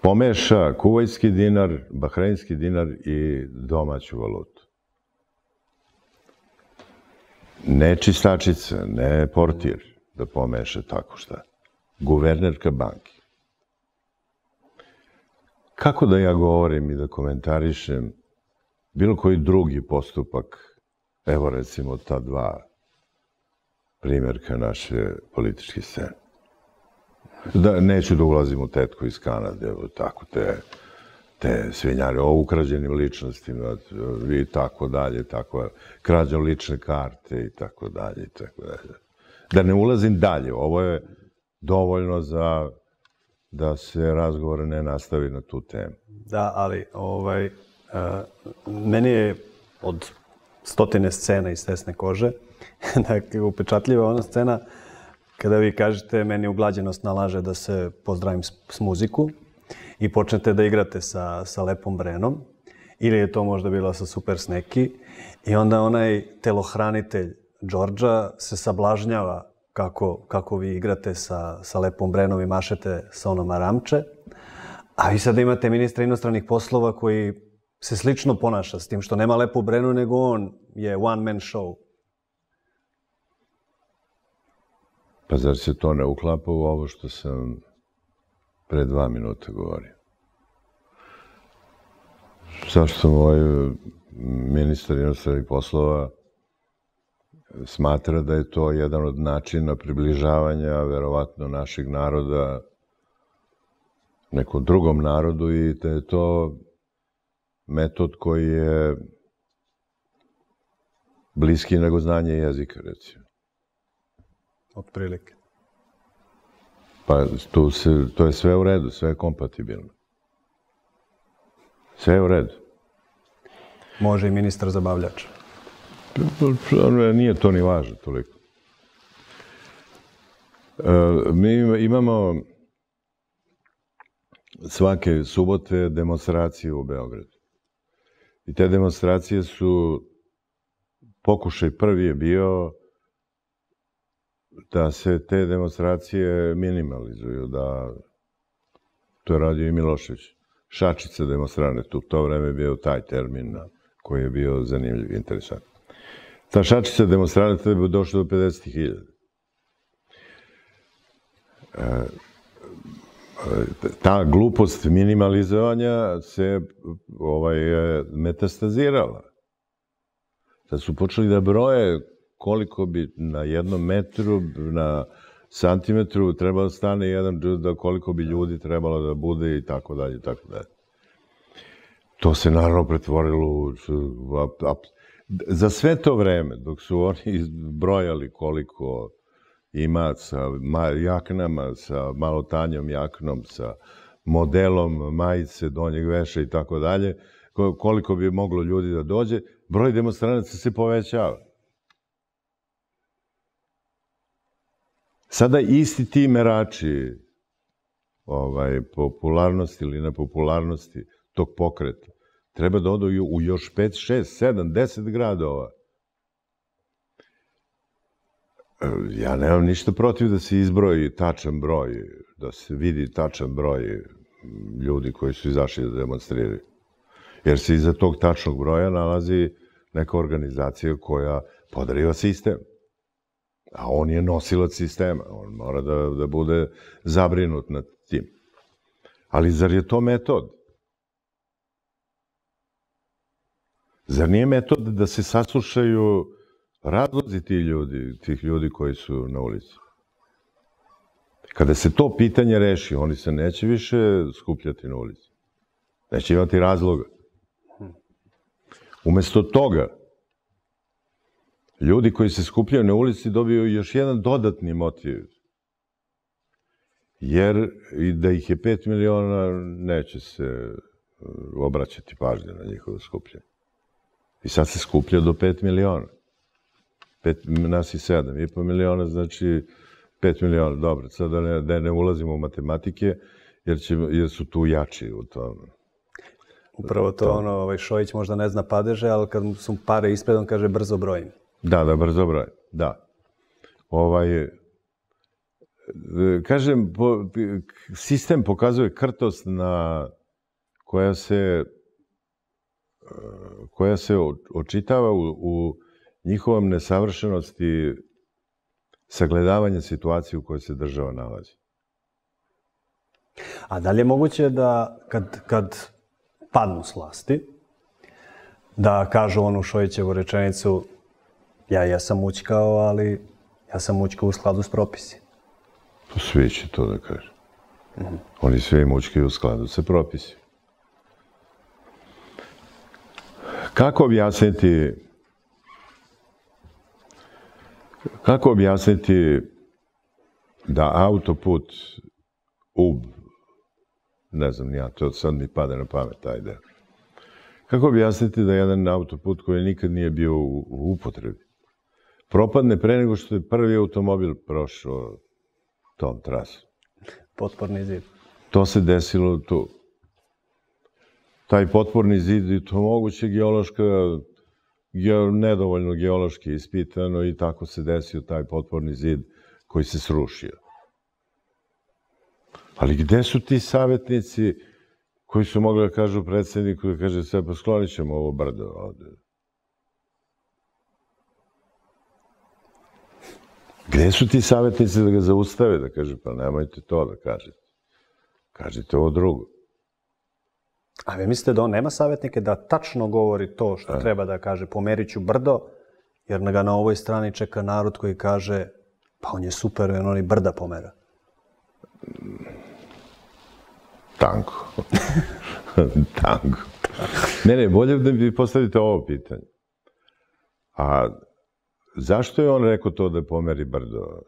pomeša kuvajtski dinar, bahrajnski dinar i domaću valutu? Ne čistačica, ne portir da pomeša tako šta. Guvernerka banke. Kako da ja govorim i da komentarišem bilo koji drugi postupak, evo recimo ta dva primjerka naše političke scene. Da, neću da ulazim u tetku iz Kanade, tako te, te svinjare o ukrađenim ličnostima i tako dalje, tako, krađom lične karte i tako dalje, i tako dalje. Da ne ulazim dalje, ovo je dovoljno za da se razgovor ne nastavi na tu temu. Da, ali ovaj, meni je od stotine scena iz Tesne kože, dakle, upečatljiva ona scena kada vi kažete meni uglađenost nalaže da se pozdravim s muziku i počnete da igrate sa, sa Lepom Brenom, ili je to možda bilo sa Super Sneki, i onda onaj telohranitelj Đorđa se sablažnjava kako, kako vi igrate sa, sa Lepom Brenom i mašete sa onom aramče, a vi sada imate ministra inostranih poslova koji se slično ponaša s tim što nema Lepu Brenu, nego on je one man show. Pa zar se to ne uklapa u ovo što sam pre dva minuta govorio? Zašto moj ministar inostranih poslova smatra da je to jedan od načina približavanja, verovatno, našeg naroda nekom drugom narodu i da je to metod koji je bliski nego znanje jezika, recimo. Otprilike. Pa tu se, to je sve u redu, sve je kompatibilno. Sve je u redu. Može i ministar zabavljač. Nije to ni važno toliko. Mi imamo svake subote demonstracije u Beogradu. I te demonstracije su, pokušaj prvi je bio da se te demonstracije minimalizuju, da to je radio i Milošević. Šačica demonstranata, u to vreme je bio taj termin koji je bio zanimljiv i interesantan. Ta šačica demonstranata je došla do pedeset hiljada. Ta glupost minimalizovanja se ovaj, metastazirala. Sad su počeli da broje koliko bi na jednom metru, na santimetru trebalo stane jedan džuda, koliko bi ljudi trebalo da bude i tako dalje, i tako dalje. To se naravno pretvorilo u... Za sve to vreme, dok su oni brojali koliko ima sa jaknama, sa malo tanjom jaknom, sa modelom majice, donjeg veša i tako dalje, koliko bi moglo ljudi da dođe, broj demonstranaca se povećava. Sada isti ti merači popularnosti ili nepopularnosti tog pokreta treba da odu u još pet, šest, sedam, deset gradova. Ja nemam ništa protiv da se izbroji tačan broj, da se vidi tačan broj ljudi koji su izašli da demonstriraju. Jer se iza tog tačnog broja nalazi neka organizacija koja podriva sistem. A on je nosilac sistema. On mora da bude zabrinut nad tim. Ali zar je to metod? Zar nije metod da se saslušaju razlozi tih ljudi, tih ljudi koji su na ulici? Kada se to pitanje reši, oni se neće više skupljati na ulici. Neće imati razloga. Umesto toga, ljudi koji se skupljaju na ulici dobiju još jedan dodatni motiv. Jer i da ih je pet miliona, neće se obraćati pažnje na njihovo skupljanje. I sad se skuplja do pet miliona. Nas i sedam i po miliona, znači pet miliona. Dobro, sad da ne ulazimo u matematike, jer su tu jači u tome. Upravo to ono, Šojić možda ne zna padeže, ali kad su pare ispred, on kaže brzo brojim. Da, da, brzo brojim, da. Kažem, sistem pokazuje krtost koja se koja se očitava u njihovom nesavršenosti sagledavanja situacije u kojoj se država nalazi. A da li je moguće da kad padnu s vlasti, da kažu onu Šojićevu rečenicu ja jesam mućkao, ali ja sam mućkao u skladu s propisi? Svi će to da kažu. Oni svi mućkaju u skladu sa propisi. Kako objasniti kako objasniti da autoput Ub, ne znam ja, to sad mi pada na pamet taj deo. Kako objasniti da jedan autoput koji nikad nije bio u upotrebi propadne pre nego što je prvi automobil prošao tom trasom? Potporni zid. To se desilo tu. Taj potporni zid i to moguće geološka, nedovoljno geološki ispitano i tako se desio taj potporni zid koji se srušio. Ali gde su ti savjetnici koji su mogli da kažu predsjedniku da kaže sve, pa sklonit ćemo ovo brdo ovde. Gde su ti savjetnici da ga zaustave, da kaže, pa nemojte to da kažete. Kažite ovo drugo. A vi mislite da on nema savjetnike da tačno govori to što treba da kaže, pomerit ću brdo, jer ga na ovoj strani čeka narod koji kaže, pa on je super, on oni brda pomera. Tanko. Tanko. Ne, ne, bolje da mi postavite ovo pitanje. A zašto je on rekao to da pomeri brdo?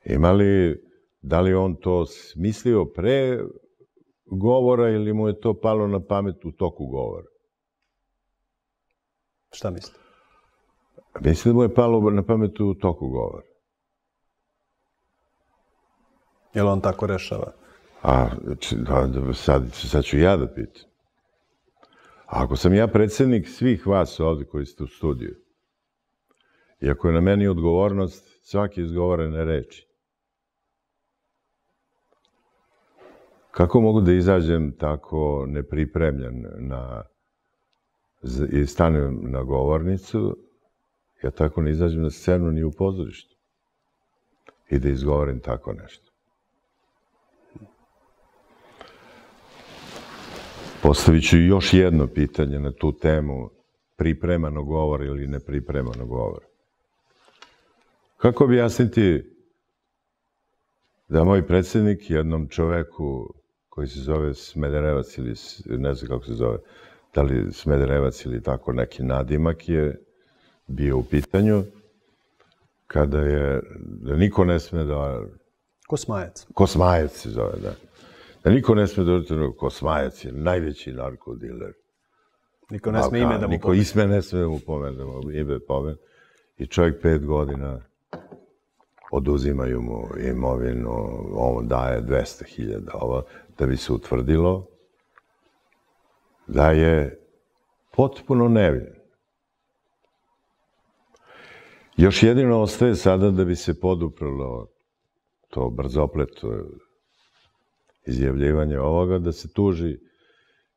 Ima li, da li on to smislio pre govora ili mu je to palo na pamet u toku govora? Šta mislite? Mislim da mu je palo na pamet u toku govora. Jel on tako rešava? A, sad ću ja da pitam. Ako sam ja predsjednik svih vas ovdje koji ste u studiju, i ako je na meni odgovornost svake izgovorene reči, kako mogu da izađem tako nepripremljen i stanem na govornicu, ja tako ne izađem na scenu ni u pozorištu i da izgovorim tako nešto? Postavit ću još jedno pitanje na tu temu pripremano govora ili nepripremano govora. Kako objasniti da moj predsjednik jednom čoveku koji se zove Smederevac ili ne znam kako se zove, da li Smederevac ili tako neki nadimak je bio u pitanju, kada je, da niko ne sme da... Kosmajac. Kosmajac se zove, da. Da niko ne sme da... Kosmajac je najveći narkodiler. Niko ne sme ime da mu Niko isme ne sme da mu pomenemo, ime pomen. I čovjek pet godina oduzimaju mu imovinu, on daje dvesta hiljada, ovo, da bi se utvrdilo da je potpuno nevin. Još jedino ostaje sada da bi se poduprlo to brzopleto izjavljivanje ovoga, da se tuži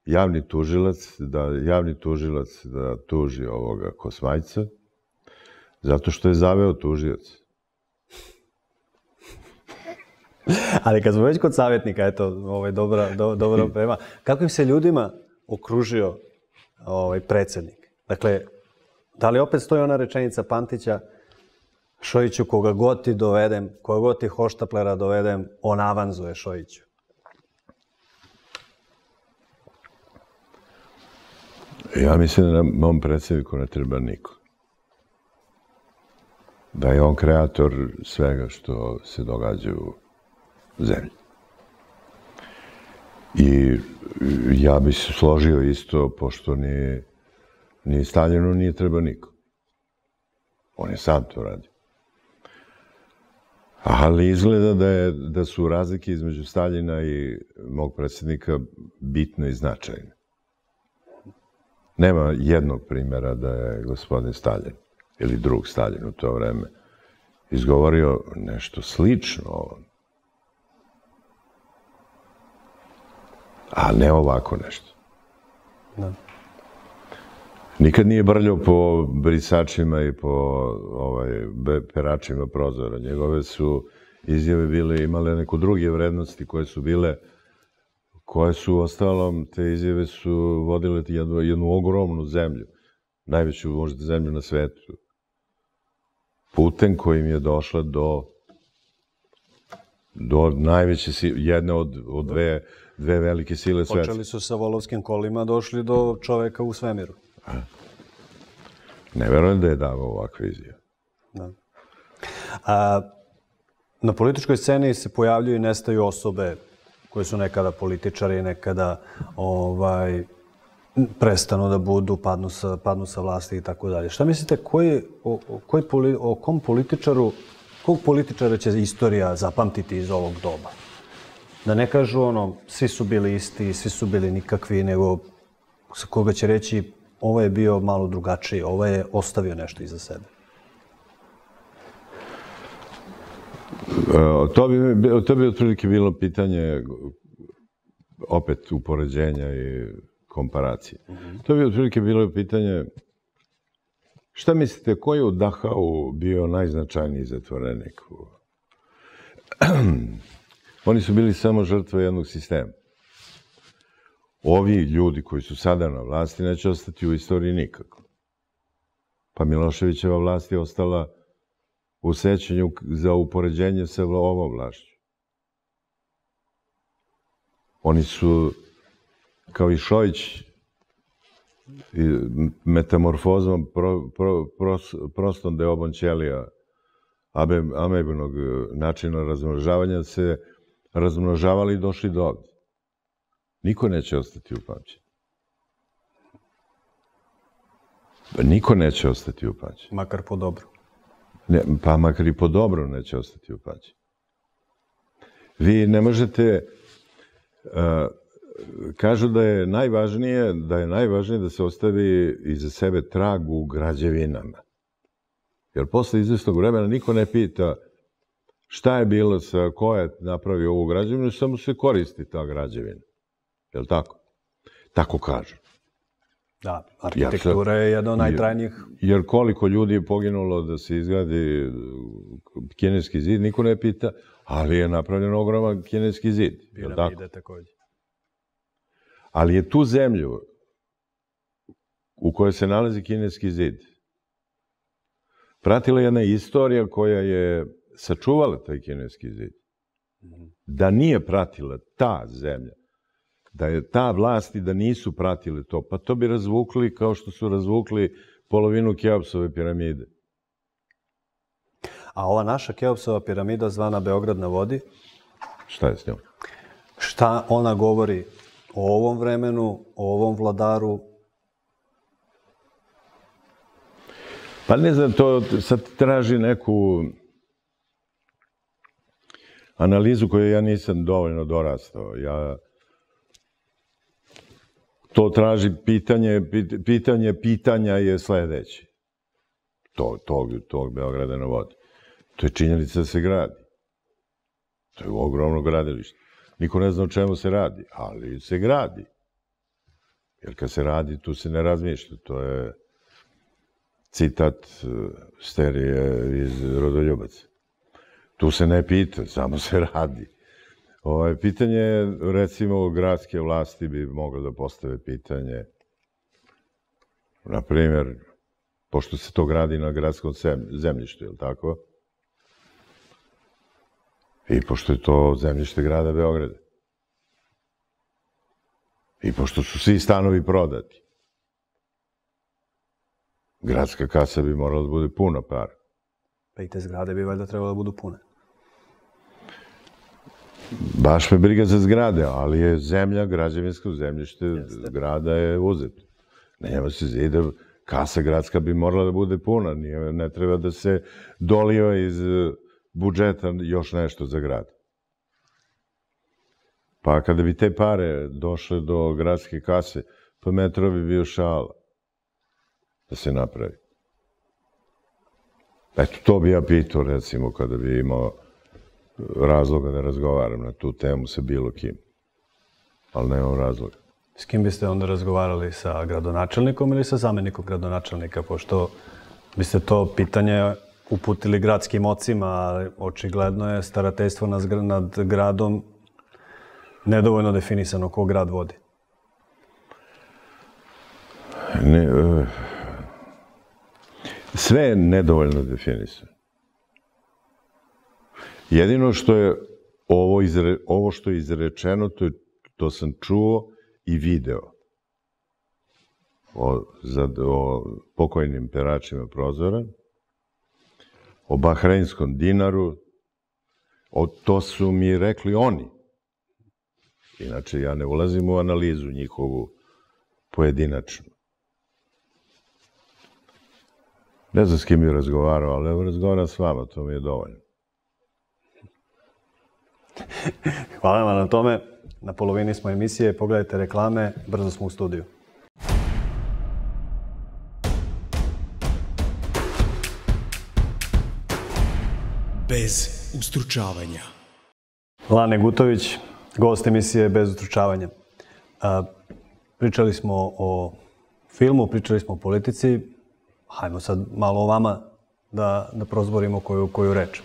javni tužilac, da javni tužilac da tuži ovoga Kosmajca, zato što je zaveo tužilac. Ali kad smo već kod savjetnika, eto, ovaj, dobra, do, dobra prema, kako im se ljudima okružio ovaj, predsjednik? Dakle, da li opet stoji ona rečenica Pantića, Šojiću, koga god ti dovedem, koga god ti hoštaplera dovedem, on avanzuje Šojiću? Ja mislim da mom predsjedniku ne treba niko. Da je on kreator svega što se događa u zemlji. I ja bih se složio isto, pošto ni, ni Staljinu nije treba niko. On je sam to radio. Ali izgleda da, je, da su razlike između Staljina i mog predsjednika bitne i značajne. Nema jednog primjera da je gospodin Staljin ili drug Staljin u to vreme izgovorio nešto slično ovom. A ne ovako nešto. Da. Nikad nije brljao po brisačima i po ovaj, peračima prozora. Njegove su izjave bile, imale neko druge vrednosti koje su bile, koje su ostalom, te izjave su vodile jednu, jednu ogromnu zemlju, najveću možda zemlju na svetu, putem kojim je došla do, do najveće, jedne od, od dve, dve velike sile sveta. Počeli su sa volovskim kolima, došli do čoveka u svemiru. Ne verujem da je davao ovakve izjave. Da. A, na političkoj sceni se pojavljuju i nestaju osobe koje su nekada političari, nekada ovaj, prestanu da budu, padnu sa, padnu sa vlasti i tako dalje. Šta mislite, koji, o, koji, o kom političaru, kog političara će istorija zapamtiti iz ovog doba? Da ne kažu ono, svi su bili isti, svi su bili nikakvi, nego sa koga će reći ovo je bio malo drugačiji, ovo je ostavio nešto iza sebe. To bi, to bi otprilike bilo pitanje opet upoređenja i komparacije. Mm-hmm. To bi otprilike bilo pitanje šta mislite, ko je u Dachau bio najznačajniji zatvorenik? Oni su bili samo žrtve jednog sistema. Ovi ljudi koji su sada na vlasti neće ostati u istoriji nikako. Pa Miloševićeva vlast je ostala u sećanju za upoređenje sa ovom vlašću. Oni su, kao i Šojić, metamorfozom pro, pro, pros, prostom deobom ćelija amebinog načina razmnožavanja se razmnožavali i došli do ovdje. Niko neće ostati upamćen. Niko neće ostati upamćen. Makar po dobru. Ne, pa makar i po dobru neće ostati upamćen. Vi ne možete... Uh, kažu da je najvažnije da je najvažnije da se ostavi iza sebe trag u građevinama. Jer posle izvestnog vremena niko ne pita šta je bilo sa ko je napravio ovu građevinu, samo se koristi ta građevina. Je li tako? Tako kažu. Da, arhitektura je jedna od najtrajnijih. Jer koliko ljudi je poginulo da se izgradi kineski zid, niko ne pita, ali je napravljen ogroman kineski zid. Piramide također. Ali je tu zemlju u kojoj se nalazi kineski zid pratila jedna istorija koja je sačuvala taj kineski zid. Da nije pratila ta zemlja, da je ta vlast i da nisu pratili to, pa to bi razvukli kao što su razvukli polovinu Keopsove piramide. A ova naša Keopsova piramida zvana Beograd na vodi, Šta je s njom? šta ona govori o ovom vremenu, o ovom vladaru? Pa ne znam, to sad traži neku analizu koju ja nisam dovoljno dorastao. Ja... To traži pitanje, pitanje pitanja je sledeće. To, tog, tog Beograda na vodi. To je činjenica da se gradi. To je ogromno gradilište. Niko ne zna o čemu se radi, ali se gradi. Jer kad se radi, tu se ne razmišlja. To je citat Sterije iz Rodoljubaca. Tu se ne pita, samo se radi. Ovaj, pitanje, recimo, gradske vlasti bi moglo da postave pitanje, na primjer, pošto se to gradi na gradskom zemljištu, je li tako? I pošto je to zemljište grada Beograda. I pošto su svi stanovi prodati. Gradska kasa bi morala da bude puna para. Pa i te zgrade bi valjda trebalo da budu pune. Baš me briga za zgrade, ali je zemlja, građevinsko zemljište grada je uzeto. Nema se zida, kasa gradska bi morala da bude puna, ne treba da se doliva iz budžeta još nešto za grad. Pa kada bi te pare došle do gradske kase, pa metro bi bio šala da se napravi. Eto, to bi ja pitao, recimo, kada bi imao razloga da razgovaram na tu temu sa bilo kim. Ali nemam razloga. S kim biste onda razgovarali? Sa gradonačelnikom ili sa zamenikom gradonačelnika? Pošto biste to pitanje uputili gradskim ocima, ali očigledno je starateljstvo nad gradom nedovoljno definisano ko grad vodi. Ne, sve je nedovoljno definisano. Jedino što je ovo, izre, ovo što je izrečeno, to, je, to sam čuo i video o, za, o pokojnim peračima prozora, o bahreinskom dinaru, o, to su mi rekli oni. Inače, ja ne ulazim u analizu njihovu pojedinačnu. Ne znam s kim je razgovarao, ali evo razgovaram s vama, to mi je dovoljno. Hvala vam na tome. Na polovini smo emisije. Pogledajte reklame. Brzo smo u studiju. Bez ustručavanja. Lane Gutović, gost emisije Bez ustručavanja. Pričali smo o filmu, pričali smo o politici. Hajmo sad malo o vama da, da prozborimo koju, koju reč.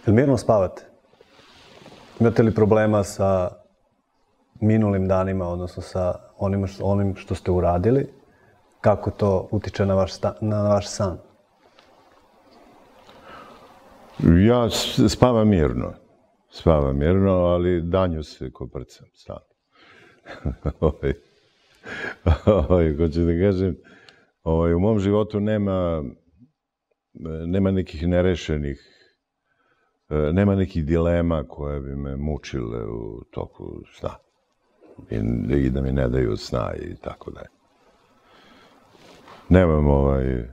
Jel mirno spavate? Imate li problema sa minulim danima, odnosno sa onim, onim što ste uradili? Kako to utiče na vaš, sta, na vaš san? Ja spavam mirno. Spavam mirno, ali danju se koprcam sam. ovaj, ovaj, ko ću da kažem, ovaj, u mom životu nema, nema nekih nerešenih nema nekih dilema koje bi me mučile u toku sna. I, i da mi ne daju sna i tako dalje. Nemam ovaj...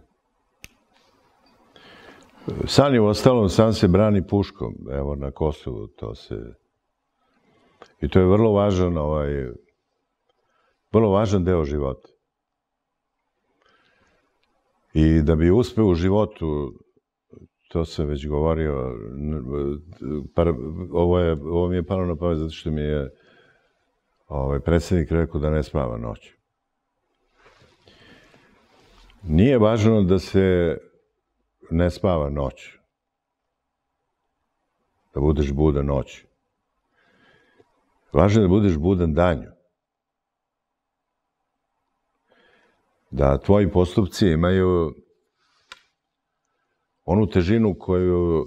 San je u ostalom, san se brani puškom. Evo na Kosovu to se... I to je vrlo važan, ovaj... vrlo važan deo života. I da bi uspeo u životu, to sam već govorio, ovo, je, ovo mi je palo na pamet zato što mi je ovaj, predsjednik rekao da ne spava noću. Nije važno da se ne spava noću. Da budeš budan noću. Važno je da budeš budan danju. Da tvoji postupci imaju onu težinu koju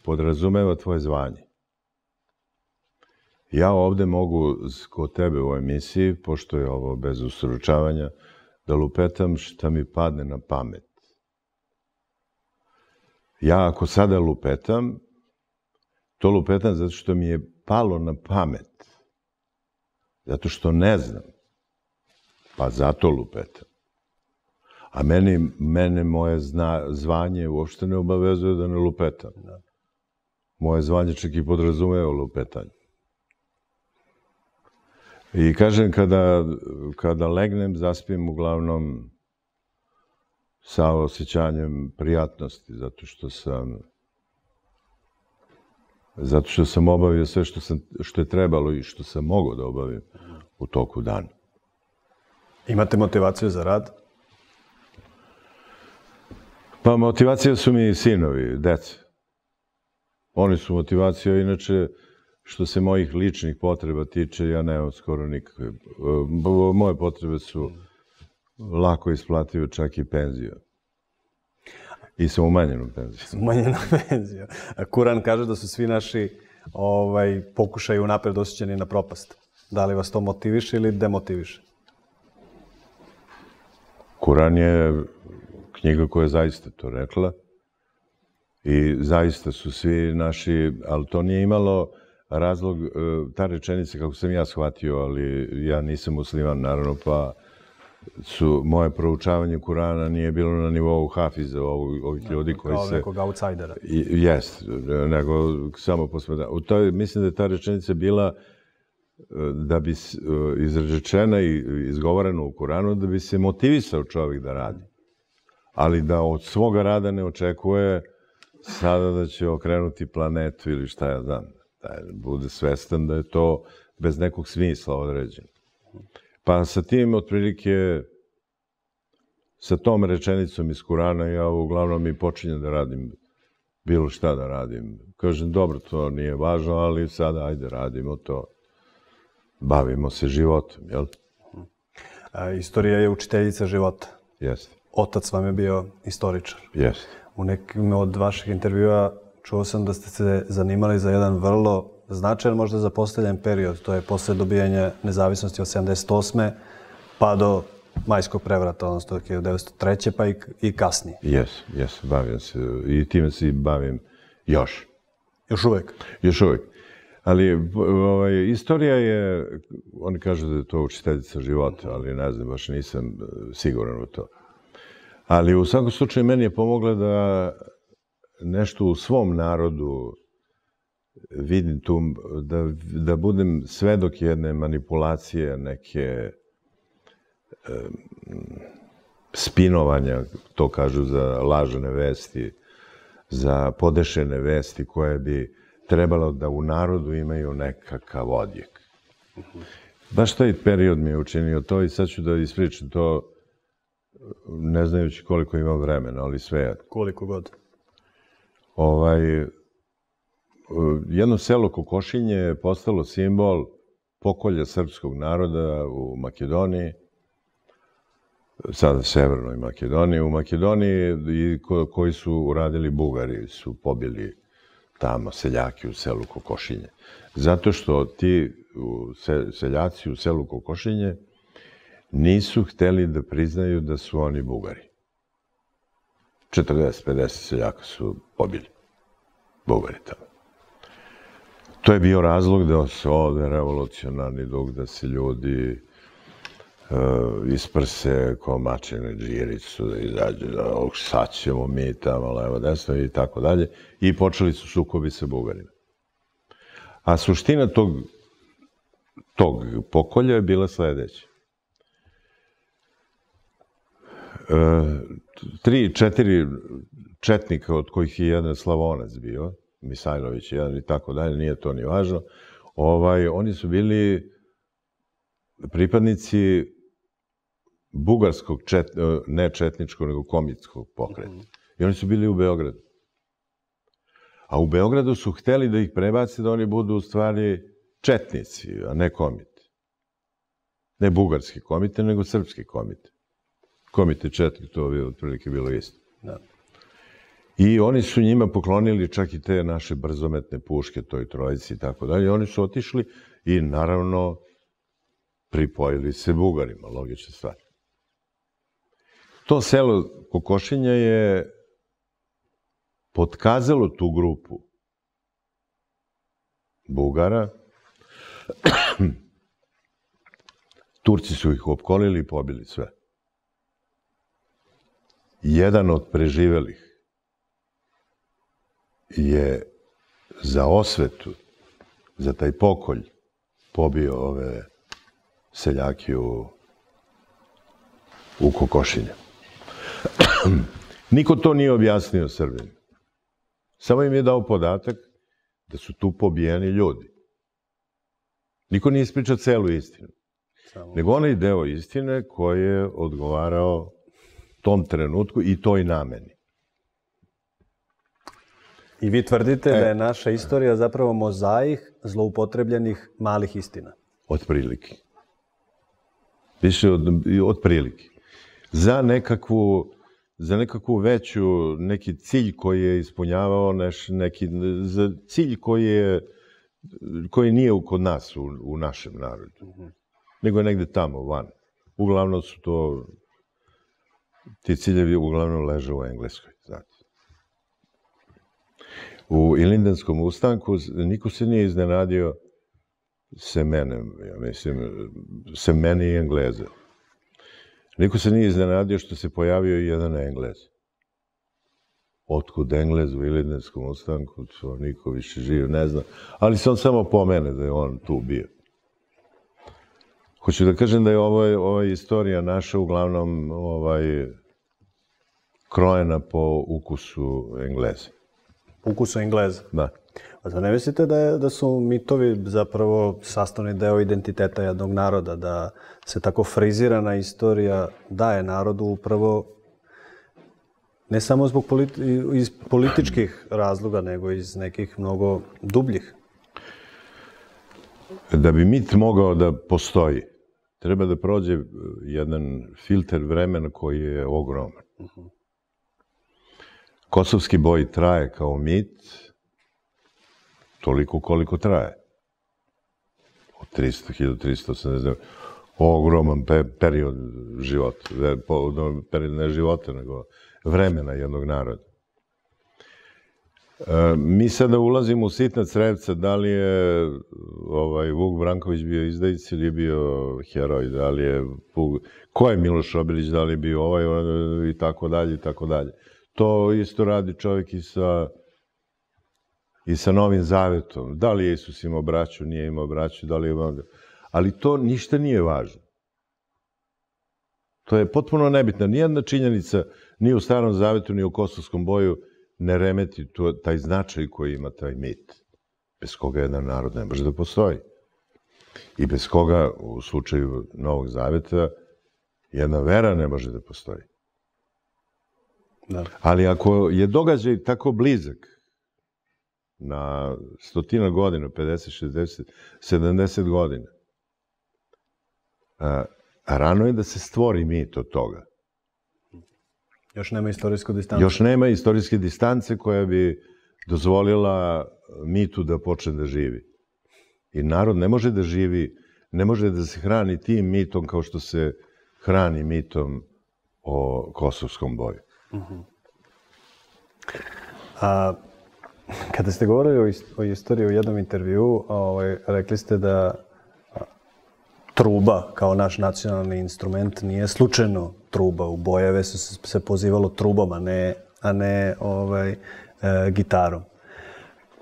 podrazumeva tvoje zvanje. Ja ovde mogu kod tebe u emisiji, pošto je ovo bez ustručavanja, da lupetam šta mi padne na pamet. Ja ako sada lupetam, to lupetam zato što mi je palo na pamet. Zato što ne znam. Pa zato lupetam. A meni, mene moje zna, zvanje uopšte ne obavezuje da ne lupetam. Moje zvanje čak i podrazumeva lupetanje. I kažem, kada, kada legnem, zaspim uglavnom sa osjećanjem prijatnosti, zato što sam zato što sam obavio sve što, sam, što je trebalo i što sam mogao da obavim u toku dana. Imate motivaciju za rad? Pa motivacija su mi sinovi, deca. Oni su motivacija, inače, što se mojih ličnih potreba tiče, ja nemam skoro nikakve. Moje potrebe su lako isplative, čak i penzija. I sa umanjenom penzijom. Umanjena penzija. Kuran kaže da su svi naši ovaj, pokušaji unapred osjećani na propast. Da li vas to motiviše ili demotiviše? Kuran je knjiga koja je zaista to rekla. I zaista su svi naši, ali to nije imalo razlog, ta rečenica, kako sam ja shvatio, ali ja nisam musliman, naravno, pa su moje proučavanje Kurana nije bilo na nivou hafiza, ovih ljudi koji se... Kao nekog outsidera. Jest, nego samo posmeda. U toj, mislim da je ta rečenica bila da bi izrečena i izgovorena u Kuranu, da bi se motivisao čovjek da radi. Ali da od svoga rada ne očekuje sada da će okrenuti planetu ili šta ja znam. Da bude svestan da je to bez nekog smisla određeno. Pa sa tim, otprilike, sa tom rečenicom iz Kurana, ja uglavnom i počinjem da radim bilo šta da radim. Kažem, dobro, to nije važno, ali sada, ajde, radimo to. Bavimo se životom, jel? A, istorija je učiteljica života. Jeste. Otac vam je bio istoričar. Jeste. U nekim od vaših intervjua čuo sam da ste se zanimali za jedan vrlo značajan, možda zapostavljen period. To je posle dobijanja nezavisnosti od sedamdeset osme pa do majskog prevrata, odnosno hiljadu devetsto treće pa i, i kasnije. Jes, jes, bavim se i time se bavim još. Još uvek? Još uvek. Ali ovaj, istorija je, oni kažu da je to učiteljica života, ali ne znam, baš nisam siguran u to. Ali u svakom slučaju meni je pomogla da nešto u svom narodu vidim tu, da, da budem svedok jedne manipulacije, neke e, spinovanja, to kažu za lažne vesti, za podešene vesti koje bi trebalo da u narodu imaju nekakav odjek. Baš taj period mi je učinio to i sad ću da ispričam to ne znajući koliko imam vremena, ali sve je. Koliko god. Ovaj, jedno selo Kokošinje je postalo simbol pokolja srpskog naroda u Makedoniji, sada Severnoj Makedoniji. U Makedoniji i ko, koji su uradili Bugari, su pobili tamo seljaki u selu Kokošinje. Zato što ti se, seljaci u selu Kokošinje nisu hteli da priznaju da su oni Bugari. četrdeset pedeset seljaka su pobili. Bugari tamo. To je bio razlog da se ovde revolucionarni duh, da se ljudi uh, isprse ko mačene džiricu, da izađe, da oh, sad ćemo mi tamo, levo, desno i tako dalje. I počeli su sukobi sa Bugarima. A suština tog, tog pokolja je bila sledeća. Tri, četiri četnika, od kojih je jedan Slavonac bio, Misajlović jedan i tako dalje, nije to ni važno, ovaj, oni su bili pripadnici bugarskog, čet, ne četničkog, nego komitskog pokreta. I oni su bili u Beogradu. A u Beogradu su hteli da ih prebace da oni budu u stvari četnici, a ne komite. Ne bugarski komite, nego srpski komite. Komite četnik, to bi otprilike bilo isto. Da. I oni su njima poklonili čak i te naše brzometne puške, toj trojici i tako dalje. Oni su otišli i naravno pripojili se Bugarima, logična stvar. To selo Kokošinja je potkazalo tu grupu Bugara. Turci su ih opkolili i pobili sve. Jedan od preživelih je za osvetu, za taj pokolj, pobio ove seljake u, u kokošinje. Niko to nije objasnio Srbima. Samo im je dao podatak da su tu pobijeni ljudi. Niko nije ispričao celu istinu. Samo. Nego onaj deo istine koji je odgovarao tom trenutku i toj nameni. I vi tvrdite e, da je naša istorija zapravo mozaik zloupotrebljenih malih istina. Otprilike. Više od, otprilike. Za nekakvu, za nekakvu veću, neki cilj koji je ispunjavao neš, neki, za cilj koji je, koji nije kod nas, u, u našem narodu. Mm-hmm. Nego je negde tamo, van. Uglavnom su to, ti ciljevi uglavnom leže u Engleskoj, znate. U Ilindenskom ustanku niko se nije iznenadio se menem, ja mislim, se meni i Engleze. Niko se nije iznenadio što se pojavio i jedan Englez. Otkud Englez u Ilindenskom ustanku, to niko više živ ne zna, ali se on samo pomene da je on tu bio. Hoću da kažem da je ovo, ova istorija naša uglavnom ovaj, krojena po ukusu Engleza. Ukusu Engleza? Da. A to ne mislite da, je, da su mitovi zapravo sastavni deo identiteta jednog naroda, da se tako frizirana istorija daje narodu upravo ne samo zbog politi iz političkih razloga, nego iz nekih mnogo dubljih? Da bi mit mogao da postoji, treba da prođe jedan filter vremena koji je ogroman. Uh-huh. Kosovski boj traje kao mit toliko koliko traje. Od trista, hiljadu trista osamdeset ogroman pe period života. Period ne života, nego vremena jednog naroda. E, mi sada ulazimo u sitna crevca, da li je ovaj, Vuk Branković bio izdajic ili je bio heroj, da li je... Ko je Miloš Obilić, da li je bio ovaj i tako dalje i tako dalje. To isto radi čovjek i sa, i sa Novim Zavetom. Da li je Isus imao braću, nije imao braću, da li je imao... Ali to ništa nije važno. To je potpuno nebitno. Nijedna činjenica ni u Starom Zavetu, ni u Kosovskom boju ne remeti to, taj značaj koji ima taj mit. Bez koga jedan narod ne može da postoji. I bez koga, u slučaju Novog Zaveta, jedna vera ne može da postoji. Da. Ali ako je događaj tako blizak, na stotina godina, pedeset, šezdeset, sedamdeset godina, a, a rano je da se stvori mit od toga. Još nema istorijsku distancu. Još nema istorijske distance koja bi dozvolila mitu da počne da živi. I narod ne može da živi, ne može da se hrani tim mitom kao što se hrani mitom o Kosovskom boju. Uh-huh. A, kada ste govorili o, ist o istoriji u jednom intervjuu, ovaj, rekli ste da truba kao naš nacionalni instrument nije slučajno truba. U bojeve su se pozivalo trubom, a ne, a ne ovaj, e, gitarom.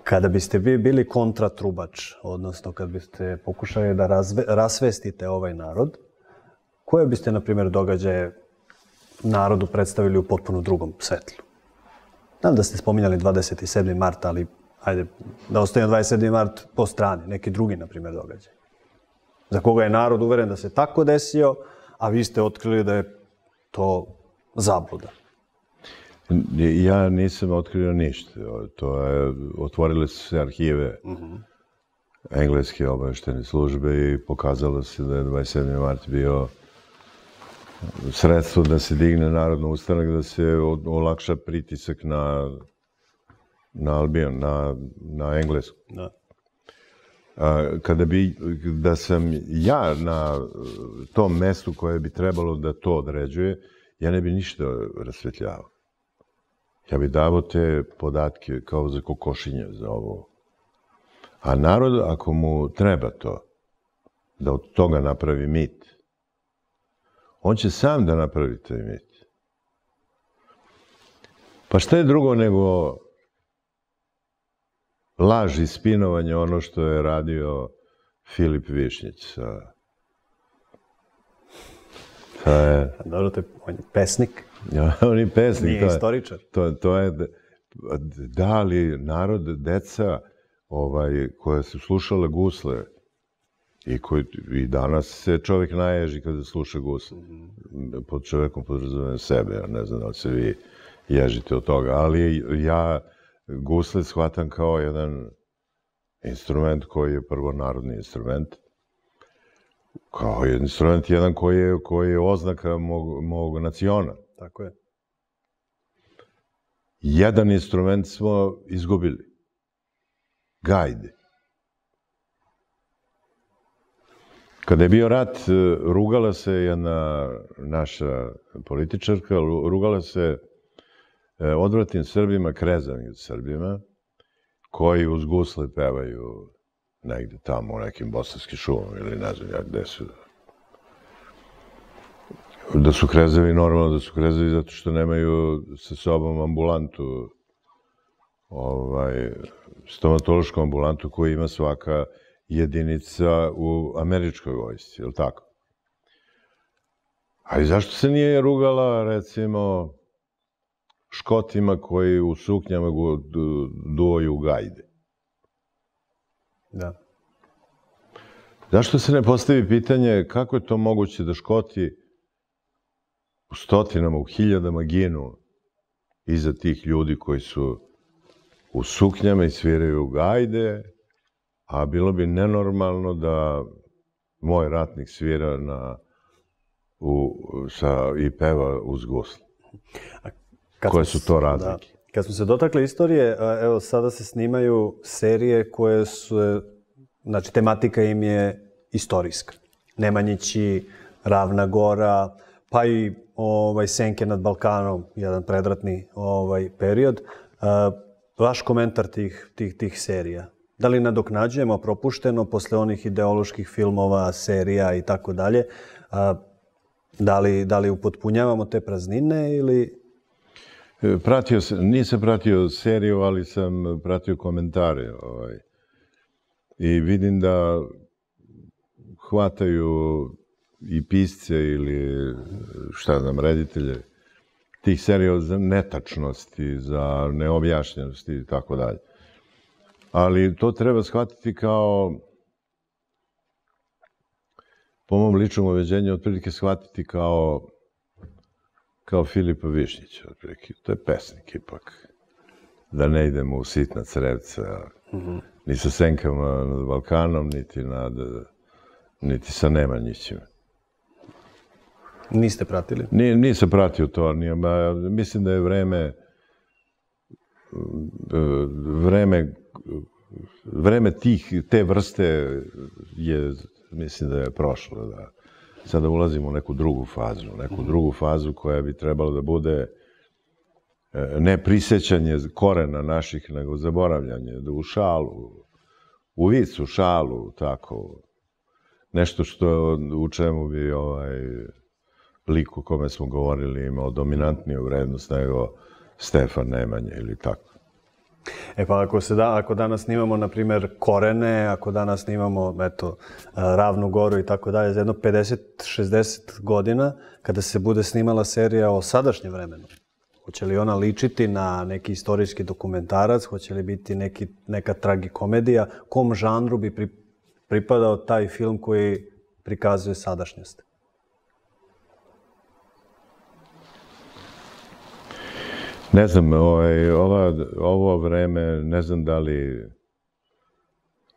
Kada biste vi bili kontratrubač, odnosno kad biste pokušali da razve, rasvestite ovaj narod, koje biste, na primjer, događaje narodu predstavili u potpuno drugom svetlu? Znam da ste spominjali dvadeset sedmi mart, ali ajde da ostavimo dvadeset sedmi mart po strani, neki drugi, na primjer, događaj. Za koga je narod uveren da se tako desio, a vi ste otkrili da je to zabluda. Ja nisam otkrio ništa. To je, otvorile su se arhive uh-huh. engleske obaveštene službe i pokazalo se da je dvadeset sedmi mart bio sredstvo da se digne narodno ustanak, da se olakša pritisak na, na Albion, na, na Englesku. Da. A, kada bi, da sam ja na tom mestu koje bi trebalo da to određuje, ja ne bi ništa rasvetljavao. Ja bih davo te podatke kao za kokošinje za ovo. A narod, ako mu treba to, da od toga napravi mit, on će sam da napravi taj mit. Pa šta je drugo nego laž i spinovanje ono što je radio Filip Višnjić sa... Je... Dobro, to je, on je pesnik. Ja, on je pesnik. Nije to je, istoričar. To, to je, da li narod, deca ovaj, koja su slušala gusle i, koji, i danas se čovjek naježi kada sluša gusle. Mm-hmm. Pod čovjekom podrazumijem sebe, ja ne znam da li se vi ježite od toga, ali ja gusle shvatam kao jedan instrument koji je prvo narodni instrument, kao instrument jedan koji je, koji je oznaka mog, mog naciona. Tako je. Jedan instrument smo izgubili. Gajde. Kada je bio rat, rugala se jedna naša političarka, rugala se odvratnim Srbima, krezavim Srbima, koji uz gusle pevaju negde tamo u nekim bosanskim šumama ili ne znam ja gde su. Da su krezavi, normalno da su krezavi zato što nemaju sa sobom ambulantu, ovaj, stomatološku ambulantu koju ima svaka jedinica u američkoj vojsci, je li tako? A i zašto se nije rugala, recimo, Škotima koji u suknjama duoju gajde? Da. Zašto se ne postavi pitanje kako je to moguće da Škoti u stotinama, u hiljadama ginu iza tih ljudi koji su u suknjama i sviraju gajde, a bilo bi nenormalno da moj ratnik svira na, u, sa, i peva uz gusle. Koje su to razlike? Da. Kad smo se dotakli istorije, evo sada se snimaju serije koje su, znači tematika im je istorijska. Nemanjići, Ravna Gora, pa i ovaj, Senke nad Balkanom, jedan predratni ovaj, period. Vaš komentar tih, tih, tih serija? Da li nadoknađujemo propušteno posle onih ideoloških filmova, serija i tako dalje? Da li, da li upotpunjavamo te praznine ili... Pratio sam, nisam pratio seriju, ali sam pratio komentare. Ovaj. I vidim da hvataju i pisce ili šta znam, reditelje tih serija za netačnosti, za neobjašnjenosti i tako dalje. Ali to treba shvatiti kao, po mom ličnom uveđenju, otprilike shvatiti kao kao Filipa Višnjića, otprilike. To je pesnik ipak. Da ne idemo u sitna crevca, mm-hmm. ni sa Senkama nad Balkanom, niti, nad, niti sa Nemanjićima. Niste pratili? Ni, nisam pratio to. Nije, ba, mislim da je vreme vreme vreme tih, te vrste je, mislim da je prošlo. Da. Sada ulazimo u neku drugu fazu, neku drugu fazu koja bi trebala da bude ne prisjećanje korena naših, nego zaboravljanje, da u šalu, u vicu, šalu, tako, nešto što u čemu bi ovaj lik o kome smo govorili imao dominantniju vrednost nego Stefan Nemanja ili tako. E pa ako se da, ako danas snimamo, na primjer, Korene, ako danas snimamo, eto, Ravnu Goru i tako dalje, za jedno pedeset šezdeset godina, kada se bude snimala serija o sadašnjem vremenu, hoće li ona ličiti na neki istorijski dokumentarac, hoće li biti neki, neka tragikomedija, kom žanru bi pri, pripadao taj film koji prikazuje sadašnjost? Ne znam, ovaj, ova, ovo vreme, ne znam da li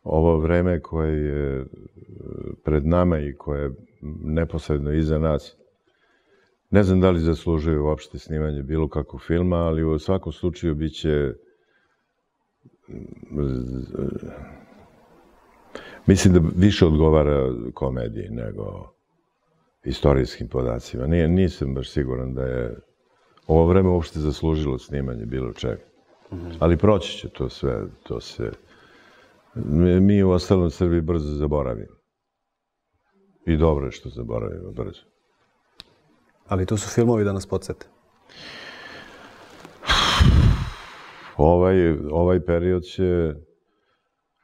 ovo vreme koje je pred nama i koje je neposredno iza nas, ne znam da li zaslužuje uopšte snimanje bilo kakvog filma, ali u svakom slučaju bit će, mislim da više odgovara komediji nego istorijskim podacima. Nije, nisam baš siguran da je ovo vreme uopšte zaslužilo snimanje bilo čega. Ali proći će to sve, to se... Mi, mi u ostalom Srbiji brzo zaboravimo. I dobro je što zaboravimo brzo. Ali tu su filmovi da nas podsjete. Ovaj, ovaj period će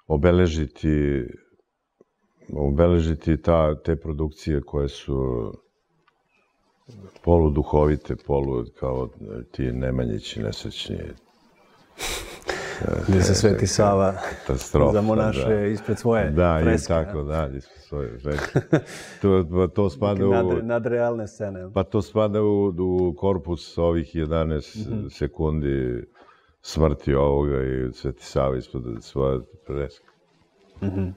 obeležiti, obeležiti ta, te produkcije koje su poluduhovite, polu kao ti Nemanjići nesrećni. Gdje se Sveti Sava zamonaše ispred svoje da, freske. Da, i tako da, ispred svoje freske. To, to spada u... Nad, nadrealne scene. Pa to spada u, u korpus ovih jedanaest mm-hmm. sekundi smrti ovoga i Sveti Sava ispred svoje freske. Mm-hmm.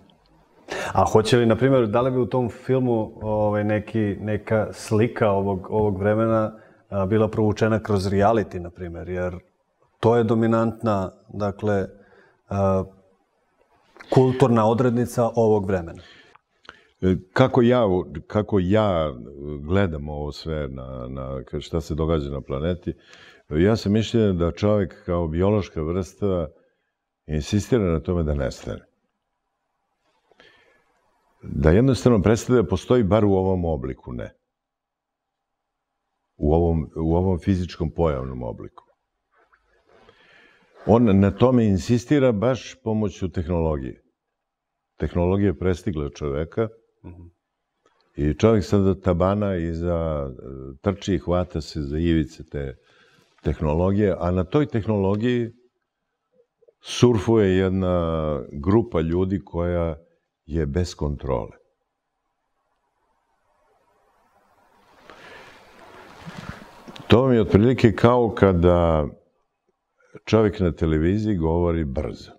A hoće li, na primjer, da li bi u tom filmu ovaj, neki, neka slika ovog, ovog vremena a, bila provučena kroz reality, na primjer, jer to je dominantna, dakle, a, kulturna odrednica ovog vremena. Kako ja, kako ja gledam ovo sve, na, na šta se događa na planeti, ja sam mišljen da čovjek kao biološka vrsta insistira na tome da nestane. Da jednostavno prestane da postoji bar u ovom obliku, ne. U ovom, u ovom fizičkom pojavnom obliku. On na tome insistira baš pomoću tehnologije. Tehnologija je prestigla čoveka mm-hmm. i čovjek sada tabana i za trči i hvata se za ivice te tehnologije, a na toj tehnologiji surfuje jedna grupa ljudi koja je bez kontrole. To mi je otprilike kao kada čovjek na televiziji govori brzo.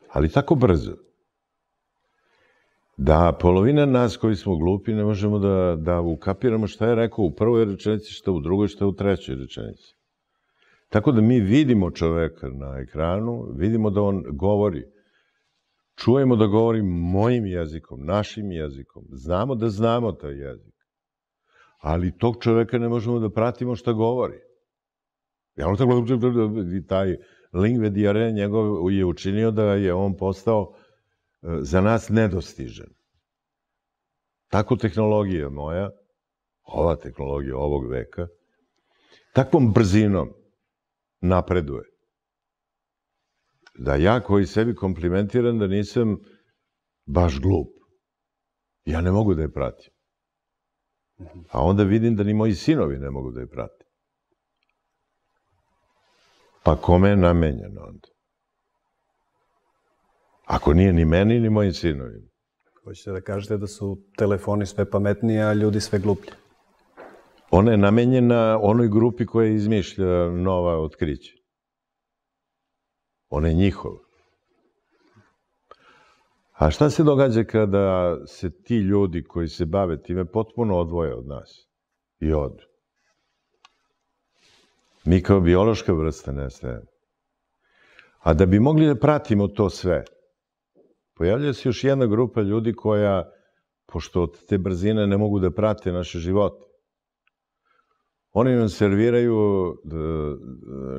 Ali tako brzo da polovina nas koji smo glupi ne možemo da, da ukapiramo šta je rekao u prvoj rečenici, šta u drugoj, šta u trećoj rečenici. Tako da mi vidimo čoveka na ekranu, vidimo da on govori, čujemo da govori mojim jezikom, našim jezikom, znamo da znamo taj jezik, ali tog čoveka ne možemo da pratimo šta govori. Ja ono tako, taj lingve dijare njegov je učinio da je on postao za nas nedostižan. Tako tehnologija moja, ova tehnologija ovog veka, takvom brzinom napreduje. Da ja koji sebi komplimentiram da nisam baš glup, ja ne mogu da je pratim. A onda vidim da ni moji sinovi ne mogu da je pratim. Pa kome je namenjeno onda? Ako nije ni meni, ni mojim sinovima. Hoćete da kažete da su telefoni sve pametniji, a ljudi sve gluplji? Ona je namenjena onoj grupi koja izmišlja nova otkrića. Ona je njihova. A šta se događa kada se ti ljudi koji se bave time potpuno odvoje od nas i odu? Mi kao biološka vrsta nestajemo. A da bi mogli da pratimo to sve, pojavlja se još jedna grupa ljudi koja, pošto od te brzine ne mogu da prate naše živote, oni nam serviraju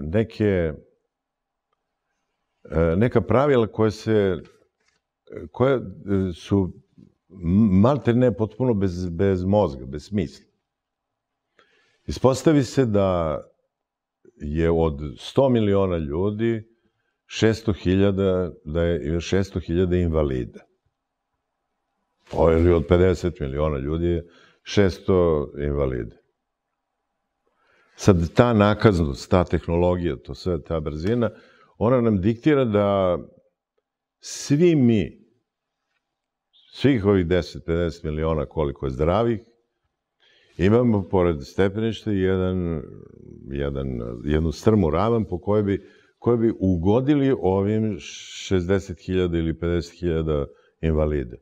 neke, neka pravila koje se, koje su malte ne potpuno bez, bez mozga, bez smisla. Ispostavi se da je od sto miliona ljudi šesto hiljada, da je šesto hiljada invalida. Ili od pedeset miliona ljudi je šesto invalida. Sad ta nakaznost, ta tehnologija, to sve, ta brzina, ona nam diktira da svi mi, svih ovih deset do pedeset miliona koliko je zdravih, imamo pored stepeništa jedan, jedan, jednu strmu ravan po kojoj bi, kojoj bi ugodili ovim šezdeset hiljada ili pedeset hiljada invalida.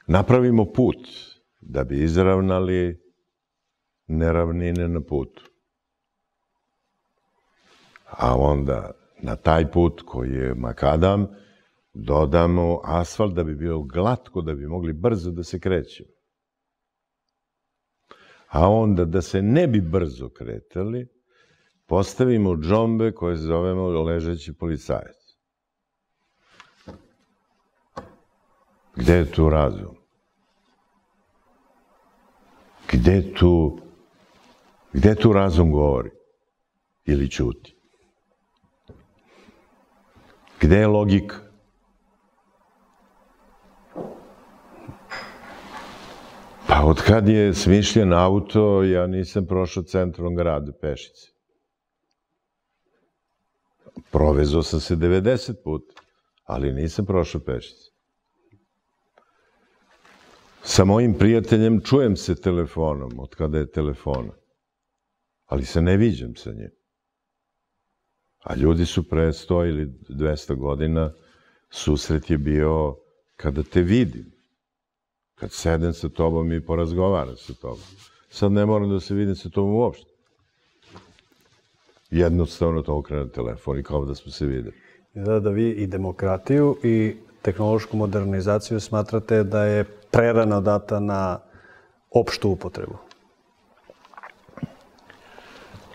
Napravimo put da bi izravnali neravnine na putu. A onda na taj put koji je makadam dodamo asfalt da bi bio glatko, da bi mogli brzo da se krećemo. A onda, da se ne bi brzo kretali, postavimo džombe koje zovemo ležeći policajac. Gde je tu razum? Gde tu, gde tu razum govori? Ili ćuti? Gde je logika? Pa od kad je smišljen auto, ja nisam prošao centrom grada pešice. Provezao sam se devedeset puta, ali nisam prošao pešice. Sa mojim prijateljem čujem se telefonom, od kada je telefona, ali se ne viđam sa njim. A ljudi su pre sto ili dvesta godina, susret je bio kada te vidim. Kad sedem sa tobom i porazgovaram sa tobom. Sad ne moram da se vidim sa tobom uopšte. Jednostavno to okrene telefon i kao da smo se videli. Da, da vi i demokratiju i tehnološku modernizaciju smatrate da je prerano data na opštu upotrebu.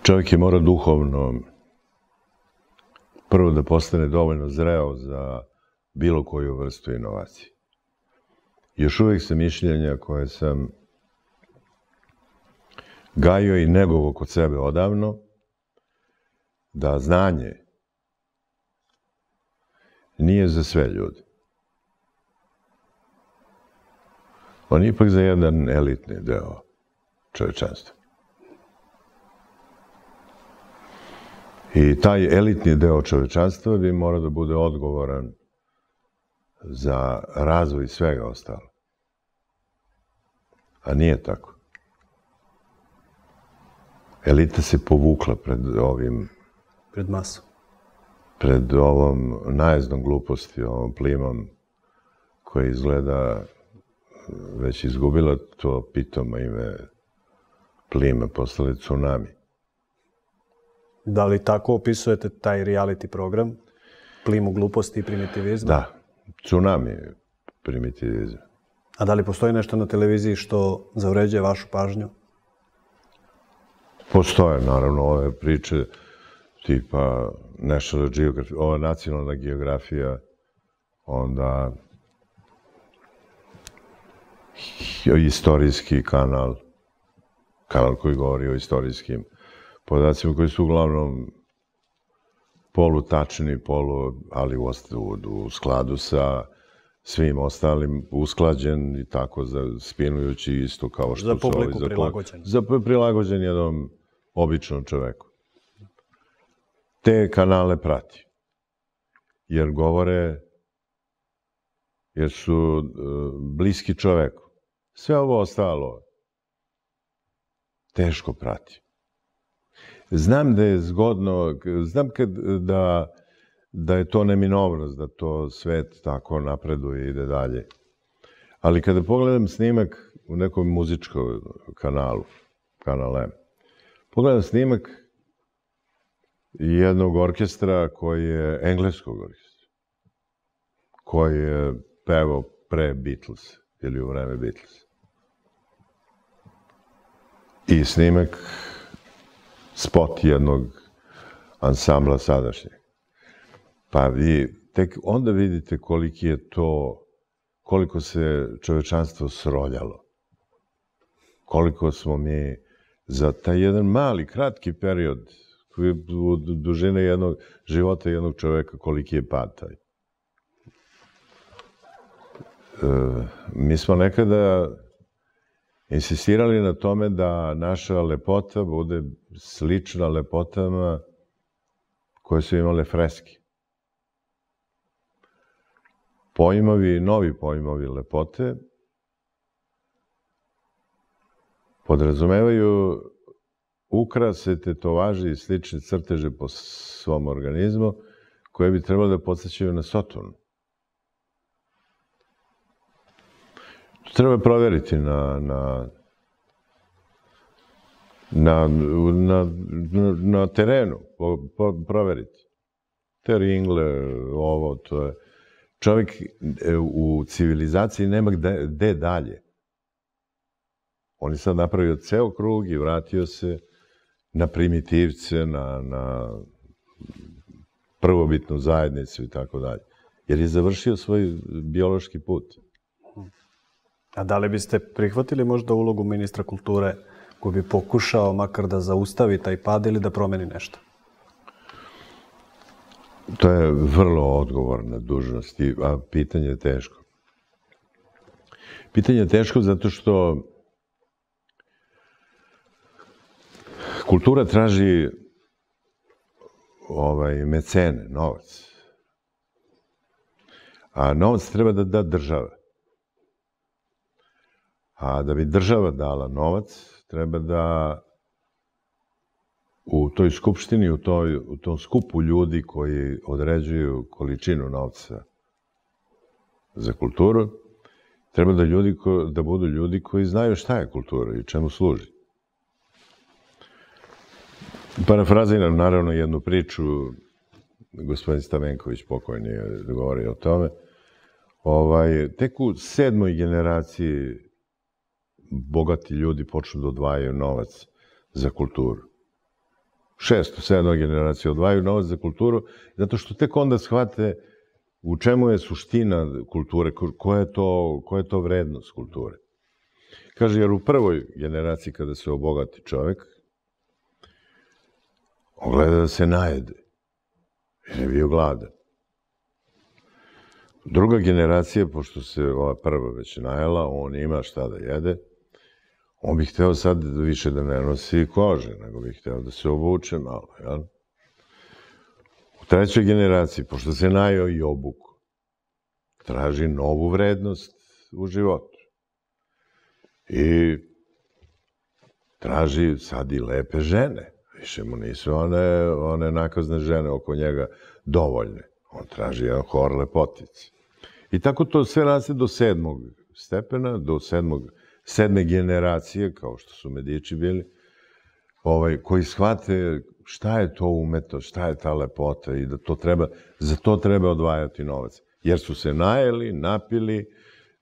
Čovjek je mora duhovno prvo da postane dovoljno zreo za bilo koju vrstu inovacije. Još uvijek sam mišljenja koje sam gajio i negovo kod sebe odavno, da znanje nije za sve ljude. On je ipak za jedan elitni deo čovečanstva. I taj elitni deo čovečanstva bi mora da bude odgovoran za razvoj svega ostalo. A nije tako. Elita se povukla pred ovim... Pred masom. Pred ovom najezdom gluposti, ovom plimom koja izgleda već izgubila to pitoma ime plima, postale tsunami. Da li tako opisujete taj reality program? Plimu gluposti i primitivizma? Da. Tsunami je primitivizam. A da li postoji nešto na televiziji što zavređuje vašu pažnju? Postoje, naravno, ove priče tipa National Geographic, ova nacionalna geografija, onda istorijski kanal, kanal koji govori o istorijskim podacima koji su uglavnom polutačni, polu, ali u, u skladu sa svim ostalim, usklađen i tako spinujući isto kao što za su publiku ovi, prilagođen. Za prilagođen jednom običnom čoveku. Te kanale prati. Jer govore, jer su uh, bliski čoveku. Sve ovo ostalo teško prati. Znam da je zgodno, znam kad, da, da je to neminovnost, da to svet tako napreduje i ide dalje. Ali kada pogledam snimak u nekom muzičkom kanalu, kanal M, pogledam snimak jednog orkestra koji je engleskog orkestra, koji je pevao pre Beatles ili u vreme Beatles. I snimak spot jednog ansambla sadašnjeg. Pa vi tek onda vidite koliki je to, koliko se čovečanstvo sroljalo. Koliko smo mi za taj jedan mali, kratki period, koji je u dužine jednog života jednog čoveka, koliki je pad taj. E, mi smo nekada insistirali na tome da naša lepota bude slična lepotama koje su imale freske. Pojmovi, novi pojmovi lepote podrazumevaju ukrase, tetovaže i slične crteže po svom organizmu koje bi trebalo da podsjećaju na Saturn. To treba provjeriti na, na, na, na, na terenu, provjeriti. Te ringle, ovo, to je... Čovjek u civilizaciji nema gde dalje. On je sad napravio ceo krug i vratio se na primitivce, na, na prvobitnu zajednicu i tako dalje. Jer je završio svoj biološki put. A da li biste prihvatili možda ulogu ministra kulture koji bi pokušao makar da zaustavi taj pad ili da promeni nešto? To je vrlo odgovorna dužnost, a pitanje je teško. Pitanje je teško zato što kultura traži ovaj, mecene, novac. A novac treba da da država. A da bi država dala novac, treba da u toj skupštini, u, toj, u tom skupu ljudi koji određuju količinu novca za kulturu, treba da, ljudi ko, da budu ljudi koji znaju šta je kultura i čemu služi. Parafraziram naravno jednu priču, gospodin Stamenković pokojni je govorio o tome. Ovaj, tek u sedmoj generaciji bogati ljudi počnu da odvajaju novac za kulturu. Šesto, sedmoj generaciji odvajaju novac za kulturu, zato što tek onda shvate u čemu je suština kulture, koja je to, koja je to vrednost kulture. Kaže, jer u prvoj generaciji kada se obogati čovek, on gleda da se najede, jer je bio gladan. Druga generacija, pošto se ova prva već najela, on ima šta da jede, on bi hteo sad više da ne nosi kože, nego bi hteo da se obuče malo, jel? U trećoj generaciji, pošto se najeo i obuku, traži novu vrednost u životu. I traži sad i lepe žene. Više mu nisu one, one nakazne žene oko njega dovoljne. On traži jedan hor lepotice. I tako to sve raste do sedmog stepena, do sedmog, sedme generacije, kao što su Medići bili, ovaj, koji shvate šta je to umetnost, šta je ta lepota i da to treba, za to treba odvajati novac. Jer su se najeli, napili,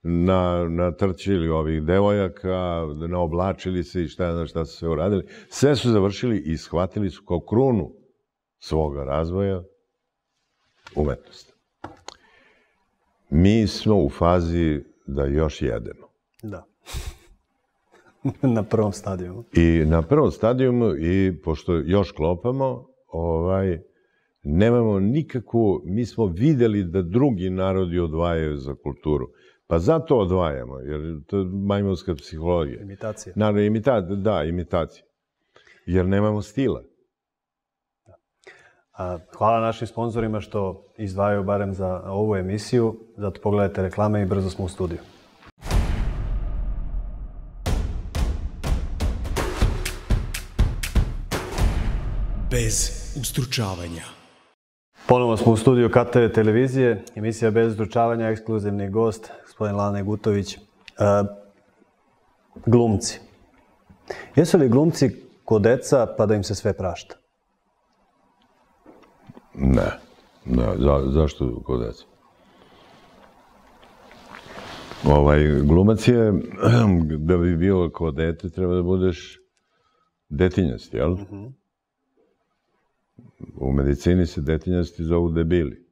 na, natrčili ovih devojaka, naoblačili se i šta je šta su sve uradili. Sve su završili i shvatili su kao krunu svoga razvoja umetnost. Mi smo u fazi da još jedemo. Da. Na prvom stadijumu. I na prvom stadijumu, i pošto još klopamo, ovaj, nemamo nikakvu, mi smo videli da drugi narodi odvajaju za kulturu. Pa zato odvajamo, jer to je majmunska psihologija. Imitacija. Naravno, imitacija, da, imitacija. Jer nemamo stila. A, hvala našim sponzorima što izdvajaju barem za ovu emisiju. Zato pogledajte reklame i brzo smo u studiju. Bez ustručavanja. Ponovo smo u studiju K T V televizije, emisija Bez ustručavanja, ekskluzivni gost, gospodin Lane Gutović. E, glumci. Jesu li glumci ko deca pa da im se sve prašta? Ne. Ne. Za, zašto ko deca? Ovaj, glumac je, da bi bio ko dete, treba da budeš detinjast, jel? Mm-hmm. U medicini se detinjasti zovu debili.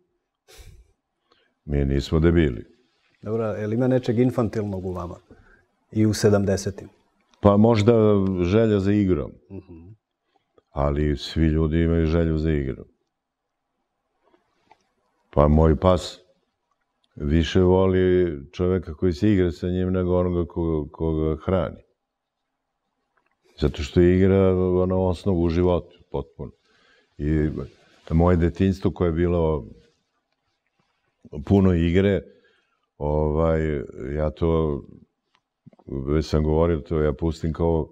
Mi nismo debili. Dobro, je li ima nečeg infantilnog u vama? I u sedamdesetim? Pa možda želja za igrom. Mm-hmm. Ali svi ljudi imaju želju za igrom. Pa moj pas više voli čoveka koji se igra sa njim nego onoga ko, koga hrani. Zato što igra ono osnovu u životu, potpuno. I moje detinjstvo koje je bilo puno igre, ovaj, ja to, već sam govorio, to ja pustim kao,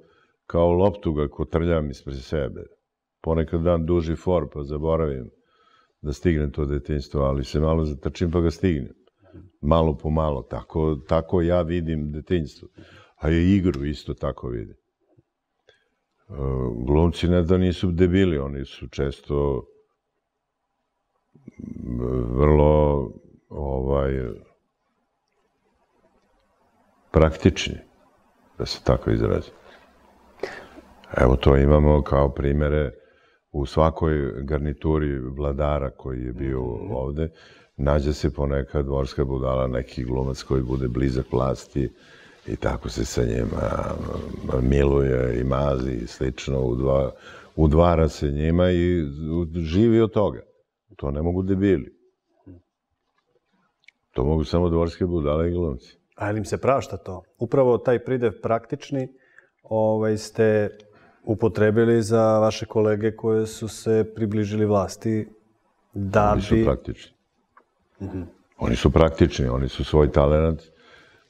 kao loptu ga kotrljam ispred sebe. Ponekad dan duži for, pa zaboravim da stignem to detinjstvo, ali se malo zatrčim pa ga stignem. Malo po malo, tako, tako ja vidim detinjstvo. A i igru isto tako vidim. Glumci ne da nisu debili, oni su često vrlo ovaj, praktični. da se tako izrazi. Evo to imamo kao primere u svakoj garnituri vladara koji je bio ovde. Nađe se ponekad dvorska budala, neki glumac koji bude blizak vlasti i tako se sa njima miluje i mazi i slično, udva, udvara se njima i živi od toga. To ne mogu debili. To mogu samo dvorske budale i glumci. A im se prašta to? Upravo taj pridev praktični ovaj, ste upotrebili za vaše kolege koje su se približili vlasti da Oni su bi... praktični. Mm-hmm. Oni su praktični, oni su svoj talent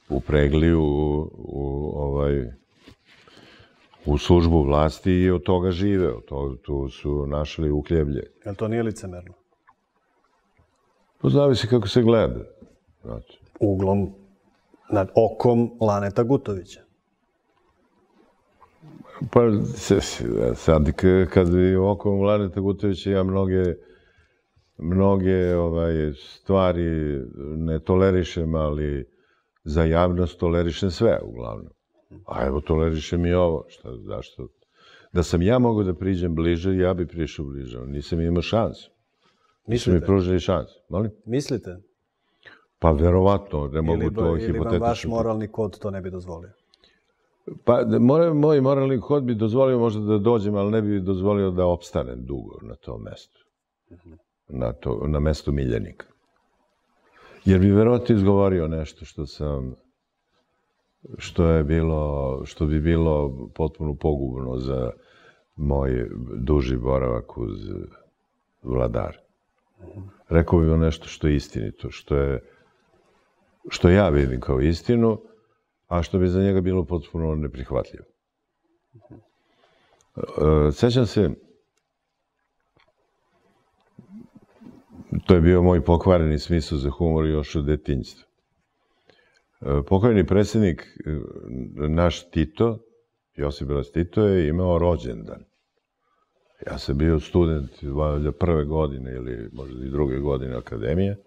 upregli u, u, ovaj, u službu vlasti i od toga žive. Od toga, tu su našli uhljeblje. Jel to nije licemerno? To zavisi kako se gleda. Znači. Uglom, nad okom Laneta Gutovića. Pa sad kad bi okom Laneta Gutovića ja mnoge mnoge ovaj, stvari ne tolerišem, ali za javnost tolerišem sve uglavnom. A evo tolerišem i ovo. Šta, zašto? Da sam ja mogao da priđem bliže, ja bi prišao bliže. Nisam imao šansu. Nisu mi pružili šansu. Molim? Mislite? Pa verovatno, ne mogu ili, to ili hipotetično. Ili vam vaš moralni kod to ne bi dozvolio? Pa moj, moj moralni kod bi dozvolio možda da dođem, ali ne bi dozvolio da opstanem dugo na tom mestu. Na, to, na mestu miljenika. Jer bi verovatno izgovorio nešto što sam, što je bilo, što bi bilo potpuno pogubno za moj duži boravak uz vladar. Rekao bi nešto što je istinito, što je, što ja vidim kao istinu, a što bi za njega bilo potpuno neprihvatljivo. Sećam se, to je bio moj pokvareni smisao za humor još od detinjstva. Pokvareni predsjednik, naš Tito, Josip Broz Tito, je imao rođendan. Ja sam bio student prve godine ili možda i druge godine akademije.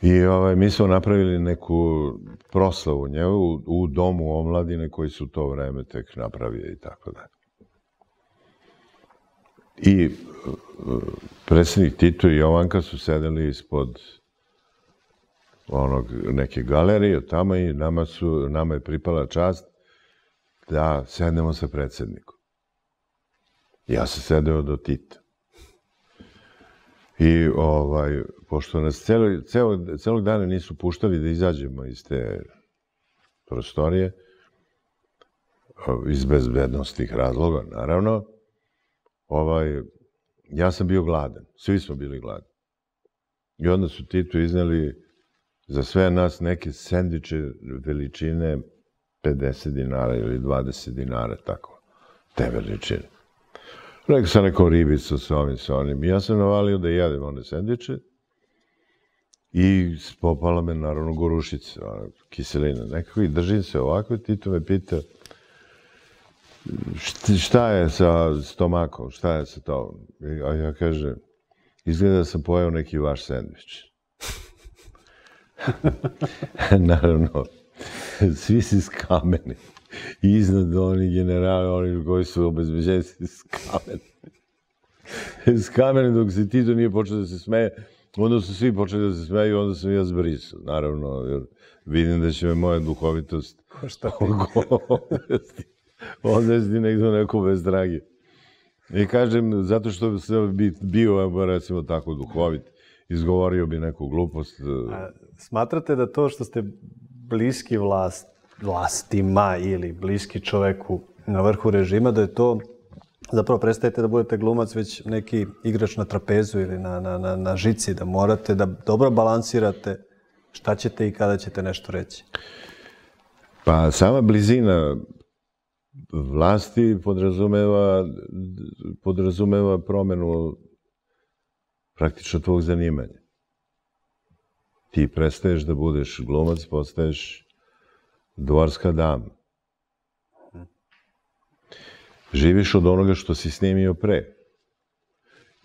I ovaj, mi smo napravili neku proslavu njegu u, u domu omladine koji su to vreme tek napravili i tako dalje. I predsjednik Tito i Jovanka su sedeli ispod onog neke galerije tamo i nama, su, nama je pripala čast da sednemo sa predsjednikom. Ja sam sedeo do Tita. I ovaj, pošto nas celo, celo, celog dana nisu puštali da izađemo iz te prostorije, iz bezbednostnih razloga, naravno, ovaj, ja sam bio gladan. Svi smo bili gladni. I onda su Titu izneli za sve nas neke sendviče veličine pedeset dinara ili dvadeset dinara, tako, te veličine. Rekao sam neko ribicu sa ovim, sa onim. I ja sam navalio da jedem one sendviče i popala me naravno gorušica, kiselina nekako i držim se ovako i Tito me pita šta je sa stomakom, šta je sa to? A ja kažem, izgleda da sam pojeo neki vaš sendvič. Naravno, svi si skameni. I iznad oni generali, oni koji su obezbeđeni skameni. Skameni dok se Tito nije počeo da se smeje, onda su svi počeli da se smeju i onda sam ja zbrisao. Naravno, jer vidim da će me moja duhovitost odvesti, odvesti nekdo neko bez dragi. I kažem, zato što sam bio, recimo, tako duhovit, izgovorio bi neku glupost. A smatrate da to što ste bliski vlast, vlastima ili bliski čoveku na vrhu režima, da je to, zapravo prestajete da budete glumac, već neki igrač na trapezu ili na, na, na, na žici, da morate da dobro balansirate šta ćete i kada ćete nešto reći? Pa sama blizina vlasti podrazumeva, podrazumeva promenu praktično tvog zanimanja. Ti prestaješ da budeš glumac, postaješ dvorska dama. Živiš od onoga što si snimio pre.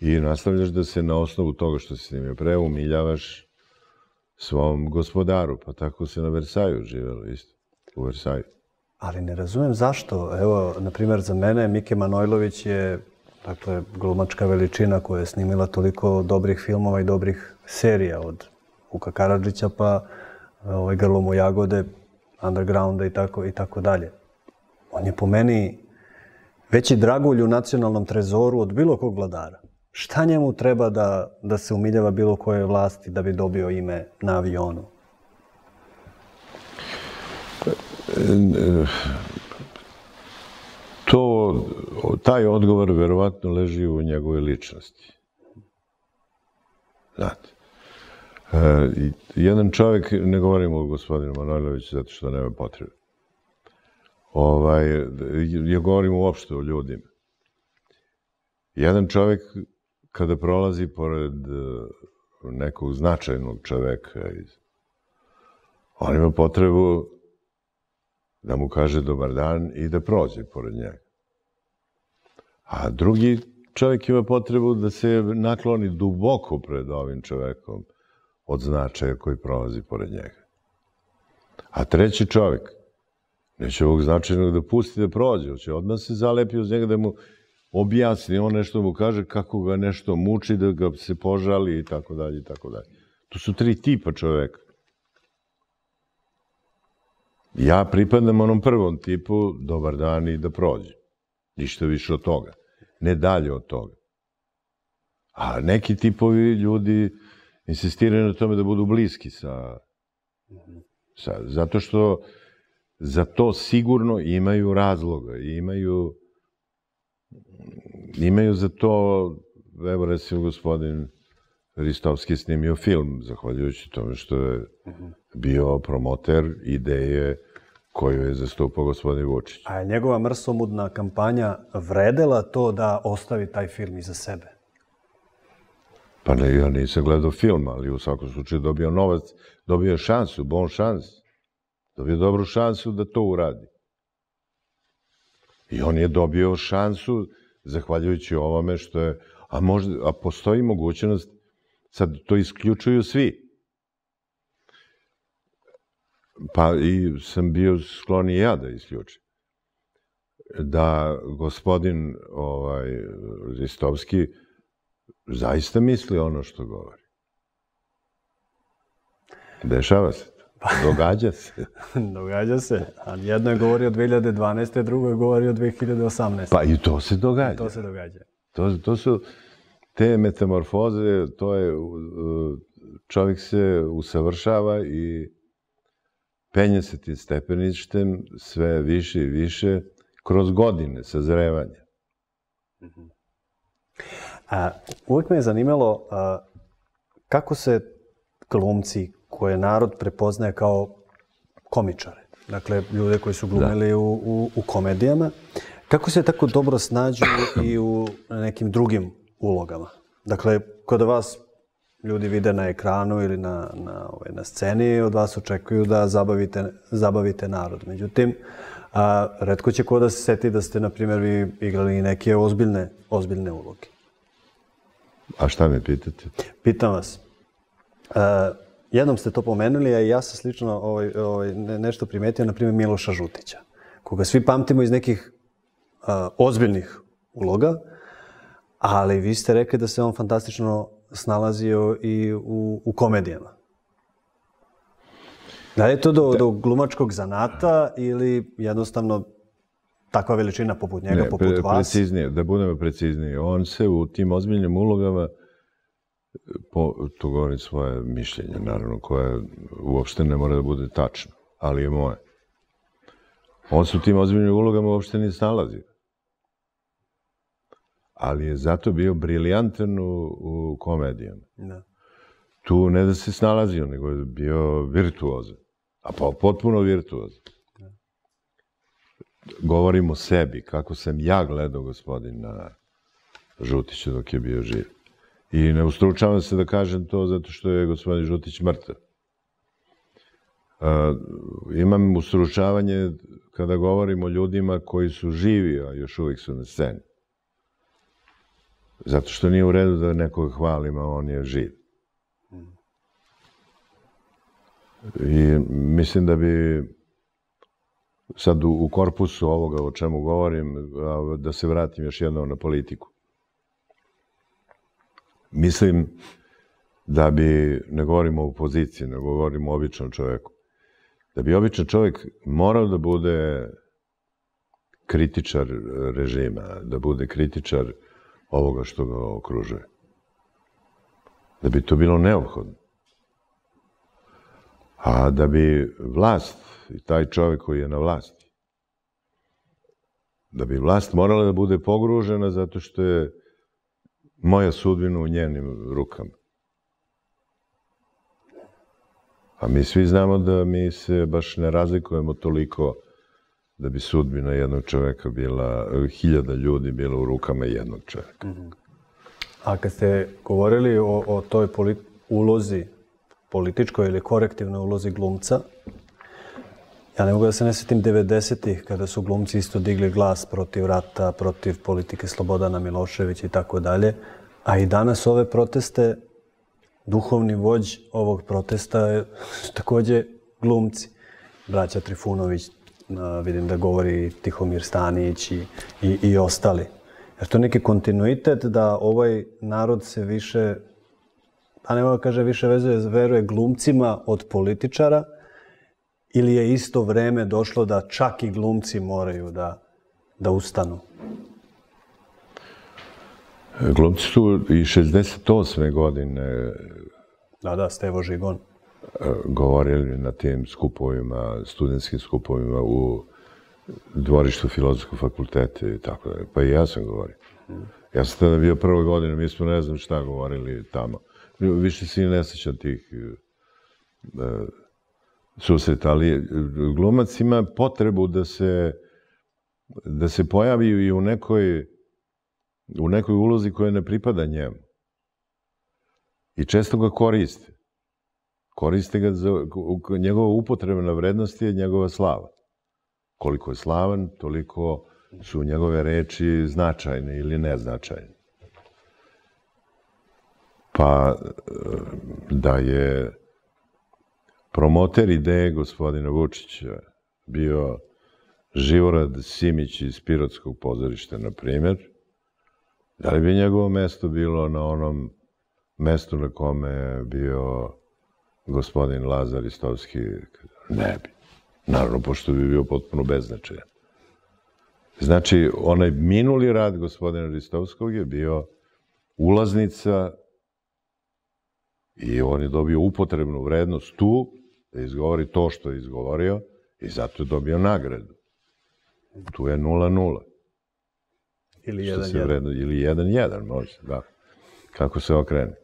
I nastavljaš da se na osnovu toga što si snimio pre umiljavaš svom gospodaru. Pa tako se na Versaju živelo isto. u Versaju. Ali ne razumem zašto. Evo, na primjer, za mene Mike Manojlović je, dakle, glumačka veličina koja je snimila toliko dobrih filmova i dobrih serija, od Vuka Karadžića pa ovaj, Grlom u jagode, Undergrounda i tako, i tako dalje. On je po meni veći dragulj u nacionalnom trezoru od bilo kog vladara. Šta njemu treba da, da se umiljava bilo koje vlasti da bi dobio ime na avionu? To, taj odgovor verovatno leži u njegovoj ličnosti. Znate, e, jedan čovjek, ne govorimo o gospodinu Manojloviću zato što nema potrebe, ovaj, ja govorim uopšte o ljudima. Jedan čovjek kada prolazi pored nekog značajnog čoveka, on ima potrebu da mu kaže dobar dan i da prođe pored njega. A drugi čovjek ima potrebu da se nakloni duboko pred ovim čovekom od značaja koji prolazi pored njega. A treći čovjek neće ovog značajnog da pusti da prođe, hoće odmah se zalepi uz njega da mu objasni, on nešto mu kaže kako ga nešto muči, da ga se požali i tako dalje i tako dalje. To su tri tipa čoveka. Ja pripadam onom prvom tipu, dobar dan i da prođe. Ništa više od toga. Ne dalje od toga. A neki tipovi ljudi insistiraju na tome da budu bliski sa... sa zato što za to sigurno imaju razloga. Imaju... Imaju za to, evo recimo gospodin Ristovski snimio film, zahvaljujući tome što je bio promoter ideje koju je zastupao gospodin Vučić. A je njegova mrsomudna kampanja vredela to da ostavi taj film iza sebe? Pa ne, ja nisam gledao film, ali u svakom slučaju dobio novac, dobio šansu, bon šans. Dobio dobru šansu da to uradi. I on je dobio šansu, zahvaljujući ovome što je... A, možda, a postoji mogućnost, sad to isključuju svi. Pa i sam bio sklon i ja da isključim. Da gospodin ovaj, Ristovski zaista misli ono što govori. Dešava se to. Događa se. Događa se. A jedno je govorio o dve hiljade dvanaeste. drugo je govorio o dve hiljade osamnaeste. Pa i to se događa. To se događa. To, to su te metamorfoze, to je, čovjek se usavršava i penje se tim stepeništem sve više i više kroz godine sazrevanja. A, uvijek me je zanimalo a, kako se glumci koje narod prepoznaje kao komičare, dakle ljude koji su glumili u, u, u komedijama, kako se tako dobro snađu i u nekim drugim ulogama? Dakle, kod vas ljudi vide na ekranu ili na, na, ovaj, na sceni, od vas očekuju da zabavite, zabavite narod. Međutim, a, retko će ko da se seti da ste, na primjer, vi igrali neke ozbiljne, ozbiljne uloge. A šta me pitate? Pitam vas. A, jednom ste to pomenuli, a ja sam slično ovaj, ovaj, nešto primetio, na primjer, Miloša Žutića, koga svi pamtimo iz nekih a, ozbiljnih uloga, ali vi ste rekli da se on fantastično snalazio i u, u komedijama. Da li je to do, do glumačkog zanata ili jednostavno takva veličina poput njega, ne, poput pre, vas? Preciznije, da budemo precizniji. On se u tim ozbiljnim ulogama, po, to govorim svoje mišljenje, naravno, koje uopšte ne mora da bude tačno, ali je moje. On se u tim ozbiljnim ulogama uopšte nije snalazio. Ali je zato bio briljantan u, u komedijama. Da. Tu ne da se snalazio, nego je bio virtuozan. A pa potpuno virtuozan. Da. Govorim o sebi, kako sam ja gledao gospodina Žutića dok je bio živ. I ne ustručavam se da kažem to zato što je gospodin Žutić mrtav. Uh, imam ustručavanje kada govorim o ljudima koji su živi, a još uvijek su na sceni. Zato što nije u redu da nekoga hvalim, a on je živ. I mislim da bi sad u, u korpusu ovoga o čemu govorim, da se vratim još jednom na politiku. Mislim da bi, ne govorimo o opoziciji, ne govorimo o običnom čoveku, da bi običan čovjek morao da bude kritičar režima, da bude kritičar ovoga što ga okružuje. Da bi to bilo neophodno. A da bi vlast i taj čovjek koji je na vlasti, da bi vlast morala da bude pogružena zato što je moja sudbina u njenim rukama. A mi svi znamo da mi se baš ne razlikujemo toliko da bi sudbina jednog čoveka bila, hiljada ljudi bila u rukama jednog čoveka. Mm-hmm. A kad ste govorili o, o toj polit, ulozi, političkoj ili korektivnoj ulozi glumca, ja ne mogu da se ne sjetim devedesetih kada su glumci isto digli glas protiv rata, protiv politike Slobodana Miloševića i tako dalje, a i danas ove proteste, duhovni vođ ovog protesta je također glumci. Braća Trifunović, vidim da govori Tihomir Stanić i, i, i ostali. Jer to neki kontinuitet da ovaj narod se više, pa ne mogu da kaže više vezuje, veruje glumcima od političara, ili je isto vreme došlo da čak i glumci moraju da, da ustanu? Glumci su i šezdeset osme godine da, da, Stevo Žigon govorili na tim skupovima, studentskim skupovima u dvorištu Filozofskog fakulteta i tako da. Pa i ja sam govorio. Ja sam tada bio prve godine, mi smo ne znam šta govorili tamo. Više se i ne sjećam tih uh, susreta, ali glumac ima potrebu da se, da se pojavi i u nekoj, u nekoj ulozi koja ne pripada njemu. I često ga koriste. Koriste ga za, njegova upotrebna vrednost je njegova slava. Koliko je slavan, toliko su njegove reči značajne ili neznačajne. Pa da je promoter ideje gospodina Vučića bio Živorad Simić iz Pirotskog pozorišta, na primjer, da li bi njegovo mesto bilo na onom mestu na kome je bio gospodin Lazar Ristovski? Ne bi. Naravno, pošto bi bio potpuno beznačajan. Znači, onaj minuli rad gospodina Ristovskog je bio ulaznica i on je dobio upotrebnu vrednost tu, da izgovori to što je izgovorio i zato je dobio nagradu. Tu je nula nula. Ili jedan jedan. Ili jedan jedan, može, da. Kako se okrene.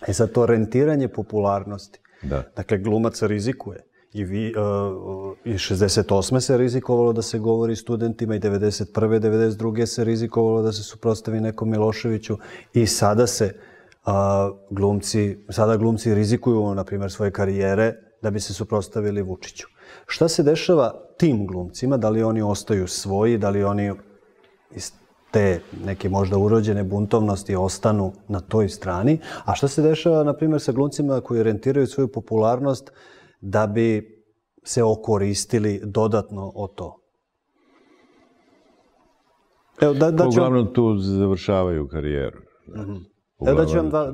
E sad, to rentiranje popularnosti. Da. Dakle, glumac rizikuje. I vi, uh, i šezdeset osme se rizikovalo da se govori studentima i devedeset prve. devedeset druge se rizikovalo da se suprotstavi nekom Miloševiću i sada se uh, glumci, sada glumci rizikuju, na primjer, svoje karijere da bi se suprotstavili Vučiću. Šta se dešava tim glumcima? Da li oni ostaju svoji, da li oni iz te neke možda urođene buntovnosti ostanu na toj strani? A šta se dešava, na primjer, sa glumcima koji orijentiraju svoju popularnost da bi se okoristili dodatno o to? Evo, da, da ću... Uglavnom tu završavaju karijeru. Mm-hmm. Evo da ću vam dva,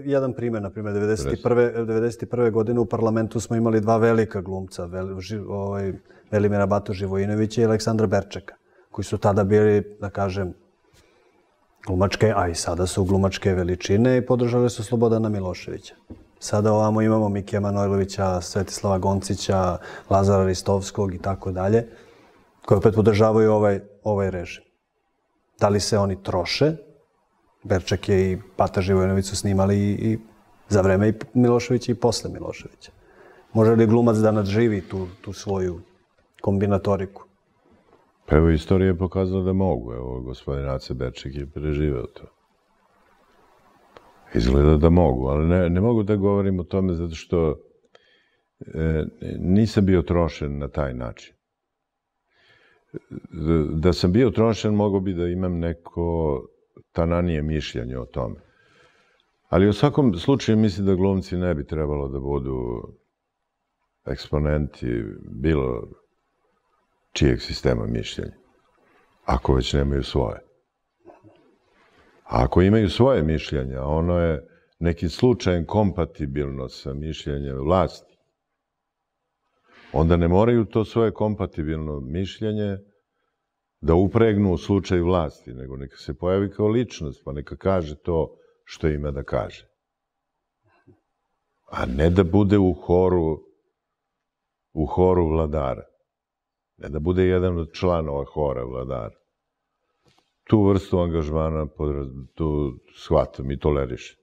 jedan primjer, na primjer, devedeset prve. devedeset prve. godine u parlamentu smo imali dva velika glumca, Vel, ži, ovaj, Velimira Batu Živojinovića i Aleksandra Berčeka, koji su tada bili, da kažem, glumačke, a i sada su glumačke veličine i podržali su Slobodana Miloševića. Sada ovamo imamo Mikija Manojlovića, Svetislava Goncića, Lazara Ristovskog i tako dalje, koji opet podržavaju ovaj, ovaj režim. Da li se oni troše? Berček je i Bata Živojinović su snimali i, i za vreme i Miloševića i posle Miloševića. Može li glumac da nadživi tu, tu svoju kombinatoriku? Pa evo, istorija je pokazala da mogu. Evo, gospodin Ace Berček je preživeo to. Izgleda da mogu, ali ne, ne mogu da govorim o tome zato što e, nisam bio trošen na taj način. Da sam bio trošen, mogo bi da imam neko tananije mišljenje o tome. Ali u svakom slučaju mislim da glumci ne bi trebalo da budu eksponenti bilo čijeg sistema mišljenja, ako već nemaju svoje. A ako imaju svoje mišljenje, a ono je nekim slučajem kompatibilno sa mišljenjem vlasti, onda ne moraju to svoje kompatibilno mišljenje da upregnu u slučaj vlasti, nego neka se pojavi kao ličnost, pa neka kaže to što ima da kaže. A ne da bude u horu, u horu vladara. Ne da bude jedan od članova hora vladara. Tu vrstu angažmana tu shvatam i tolerišem.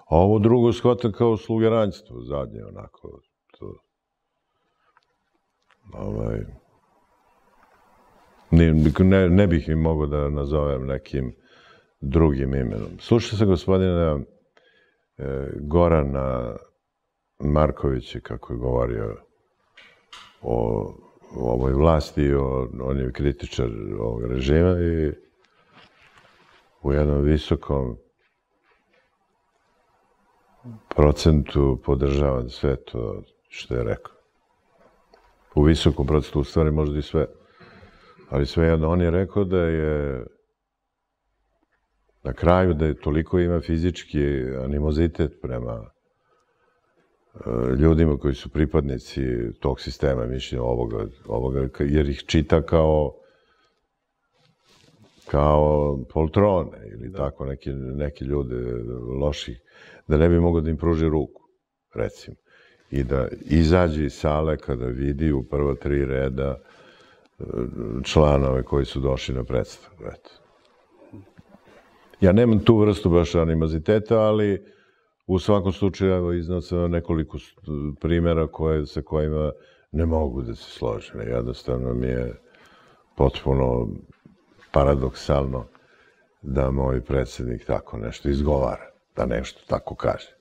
A ovo drugo shvatam kao slugeranjstvo, zadnje onako. To, ovaj, ne, ne bih im mogao da nazovem nekim drugim imenom. Slušao sam gospodina e, Gorana Markovića kako je govorio o, o ovoj vlasti, o, on je kritičar ovog režima i u jednom visokom procentu podržavam sve to što je rekao. U visokom procentu, u stvari možda i sve. Ali svejedno, on je rekao da je na kraju da je toliko ima fizički animozitet prema ljudima koji su pripadnici tog sistema mišljenja ovoga, ovoga, jer ih čita kao kao poltrone ili tako neki, neki ljude loših, da ne bi mogao da im pruži ruku, recimo. I da izađe iz sale kada vidi u prva tri reda članove koji su došli na predstavu. Eto. Ja nemam tu vrstu baš animoziteta, ali u svakom slučaju iznosam nekoliko primjera koje, sa kojima ne mogu da se složim. Jednostavno mi je potpuno paradoksalno da moj predsjednik tako nešto izgovara, da nešto tako kaže.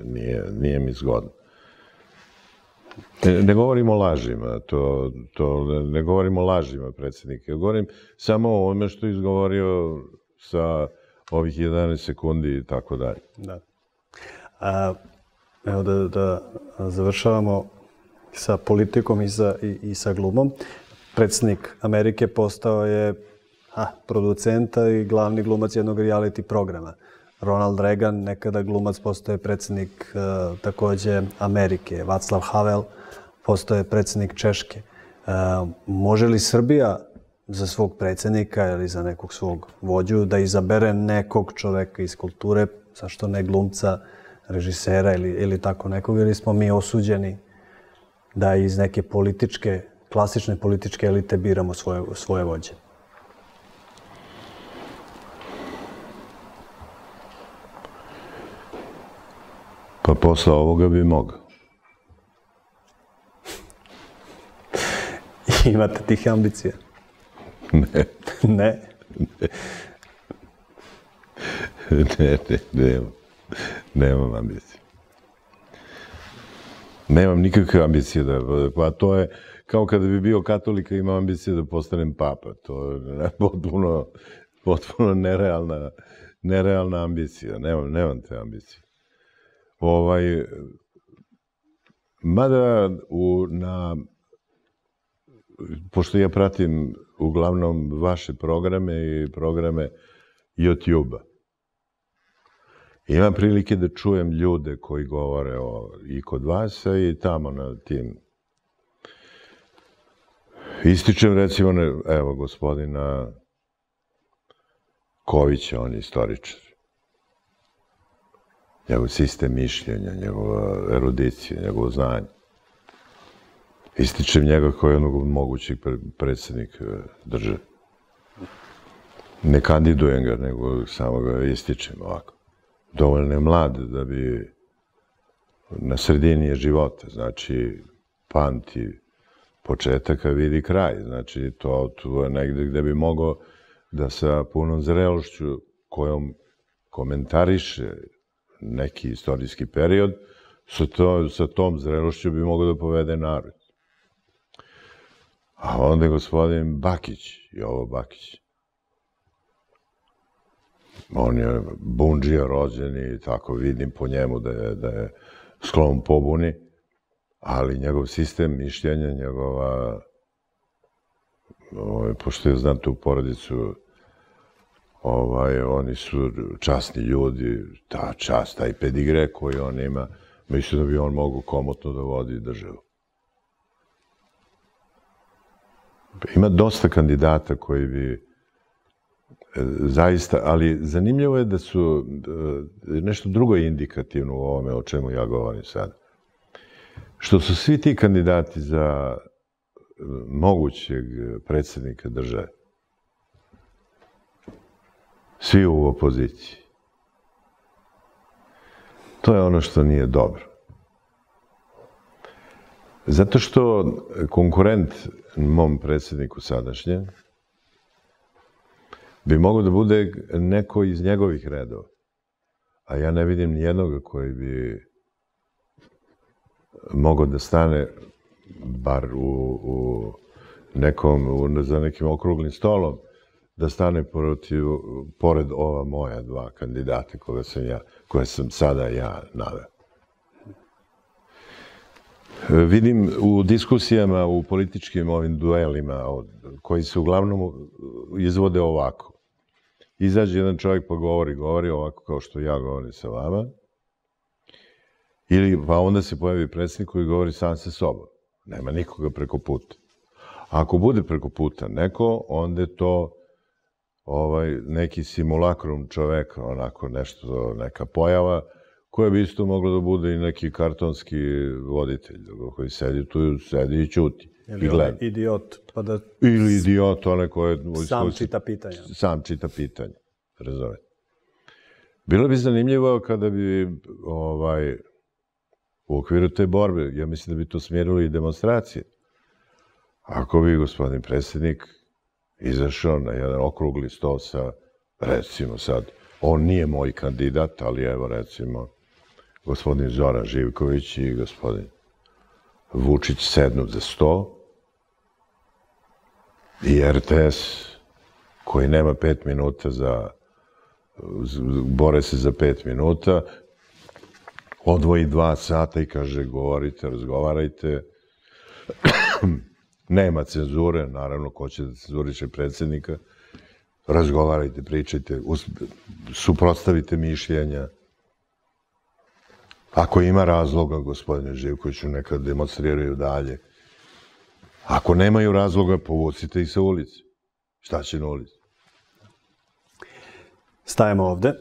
Nije, nije mi zgodno. Ne, ne govorim o lažima, to, to, ne govorim o lažima predsjednika, govorim samo o ovome što je izgovorio sa ovih jedanaest sekundi i tako dalje. Da. A, evo da, da završavamo sa politikom i sa, i, i sa glumom. Predsjednik Amerike postao je a, producenta i glavni glumac jednog reality programa. Ronald Reagan, nekada glumac, postao je predsjednik uh, takođe Amerike. Václav Havel postao je predsjednik Češke. Uh, može li Srbija za svog predsjednika ili za nekog svog vođu da izabere nekog čoveka iz kulture, zašto ne glumca, režisera ili, ili tako nekog, ili smo mi osuđeni da iz neke političke, klasične političke elite biramo svoje, svoje vođe? Pa posle ovoga bi mogao. Imate tih ambicija? Ne. Ne? Ne, ne, nemam. Nemam ambicije. Nemam nikakve ambicije da... Pa to je kao kada bi bio katolik i imao ambicije da postanem papa. To je potpuno, potpuno nerealna, nerealna ambicija. Nemam, nemam te ambicije. Ovaj, mada u, na, pošto ja pratim uglavnom vaše programe i programe YouTube-a, imam prilike da čujem ljude koji govore o, i kod vas i tamo na tim. Ističem recimo, evo, gospodina Kovića, on je istoričar. Njegov sistem mišljenja, njegova erudicija, njegovo znanje. Ističem njega kao jednog od mogućih predsjednika države. Ne kandidujem ga, nego samo ga ističem ovako. Dovoljno je mlad da bi na sredini je života, znači pamti početak, a vidi kraj. Znači to, to je negde gde bi mogao da sa punom zrelošću kojom komentariše neki istorijski period, sa, to, sa tom zrelošću bi mogao da povede narod. A onda je gospodin Bakić, Jovo Bakić. On je bundžija rođen i tako vidim po njemu da je, da je sklon pobuni, ali njegov sistem mišljenja, njegova ovaj, pošto je, znam tu porodicu, ovaj, oni su časni ljudi, ta čast, taj pedigre koji on ima, mislim da bi on mogu komotno da vodi državu. Ima dosta kandidata koji bi zaista, ali zanimljivo je da su, nešto drugo je indikativno u ovome o čemu ja govorim sad. Što su svi ti kandidati za mogućeg predsjednika države, svi u opoziciji. To je ono što nije dobro. Zato što konkurent mom predsjedniku sadašnjem bi mogao da bude neko iz njegovih redova. A ja ne vidim nijednoga koji bi mogao da stane bar u, u nekom, u, za nekim okruglim stolom, da stane protiv, pored ova moja dva kandidata koje sam, ja, koje sam sada ja naveo. Vidim u diskusijama, u političkim ovim duelima, koji se uglavnom izvode ovako. Izađe jedan čovjek pa govori, govori ovako kao što ja govorim sa vama, ili pa onda se pojavi predsjednik koji govori sam sa sobom. Nema nikoga preko puta. A ako bude preko puta neko, onda je to ovaj, neki simulakrum čoveka, onako nešto, neka pojava, koja bi isto mogla da bude i neki kartonski voditelj koji sedi tu, sedi i ćuti. Ili onaj idiot, pa da... Ili idiot, onaj koji... Sam čita pitanja. Sam čita pitanja, razumete. Bilo bi zanimljivo kada bi ovaj, u okviru te borbe, ja mislim da bi to smjerili i demonstracije. Ako bi gospodin predsjednik izašao na jedan okrugli sto sa, recimo sad, on nije moj kandidat, ali evo recimo, gospodin Zoran Živković i gospodin Vučić sednu za sto i er te es koji nema pet minuta za, bore se za pet minuta, odvoji dva sata i kaže govorite, razgovarajte, nema cenzure, naravno ko će da cenzuriše predsjednika, razgovarajte, pričajte, suprotstavite mišljenja. Ako ima razloga, gospodine Živkoviću, neka demonstriraju dalje. Ako nemaju razloga, povucite ih sa ulici. Šta će na ulici? Stajemo ovde.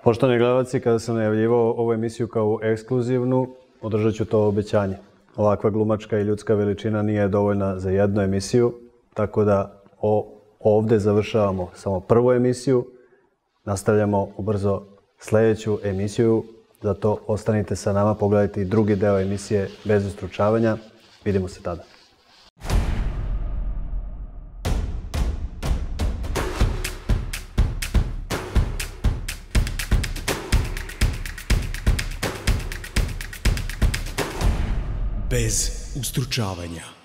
Poštovani gledalci, kada sam najavljivao ovu emisiju kao ekskluzivnu, održat ću to obećanje. Ovakva glumačka i ljudska veličina nije dovoljna za jednu emisiju, tako da ovde završavamo samo prvu emisiju. Nastavljamo ubrzo sljedeću emisiju, zato ostanite sa nama, pogledajte i drugi deo emisije Bez ustručavanja. Vidimo se tada. Bez ustručavanja.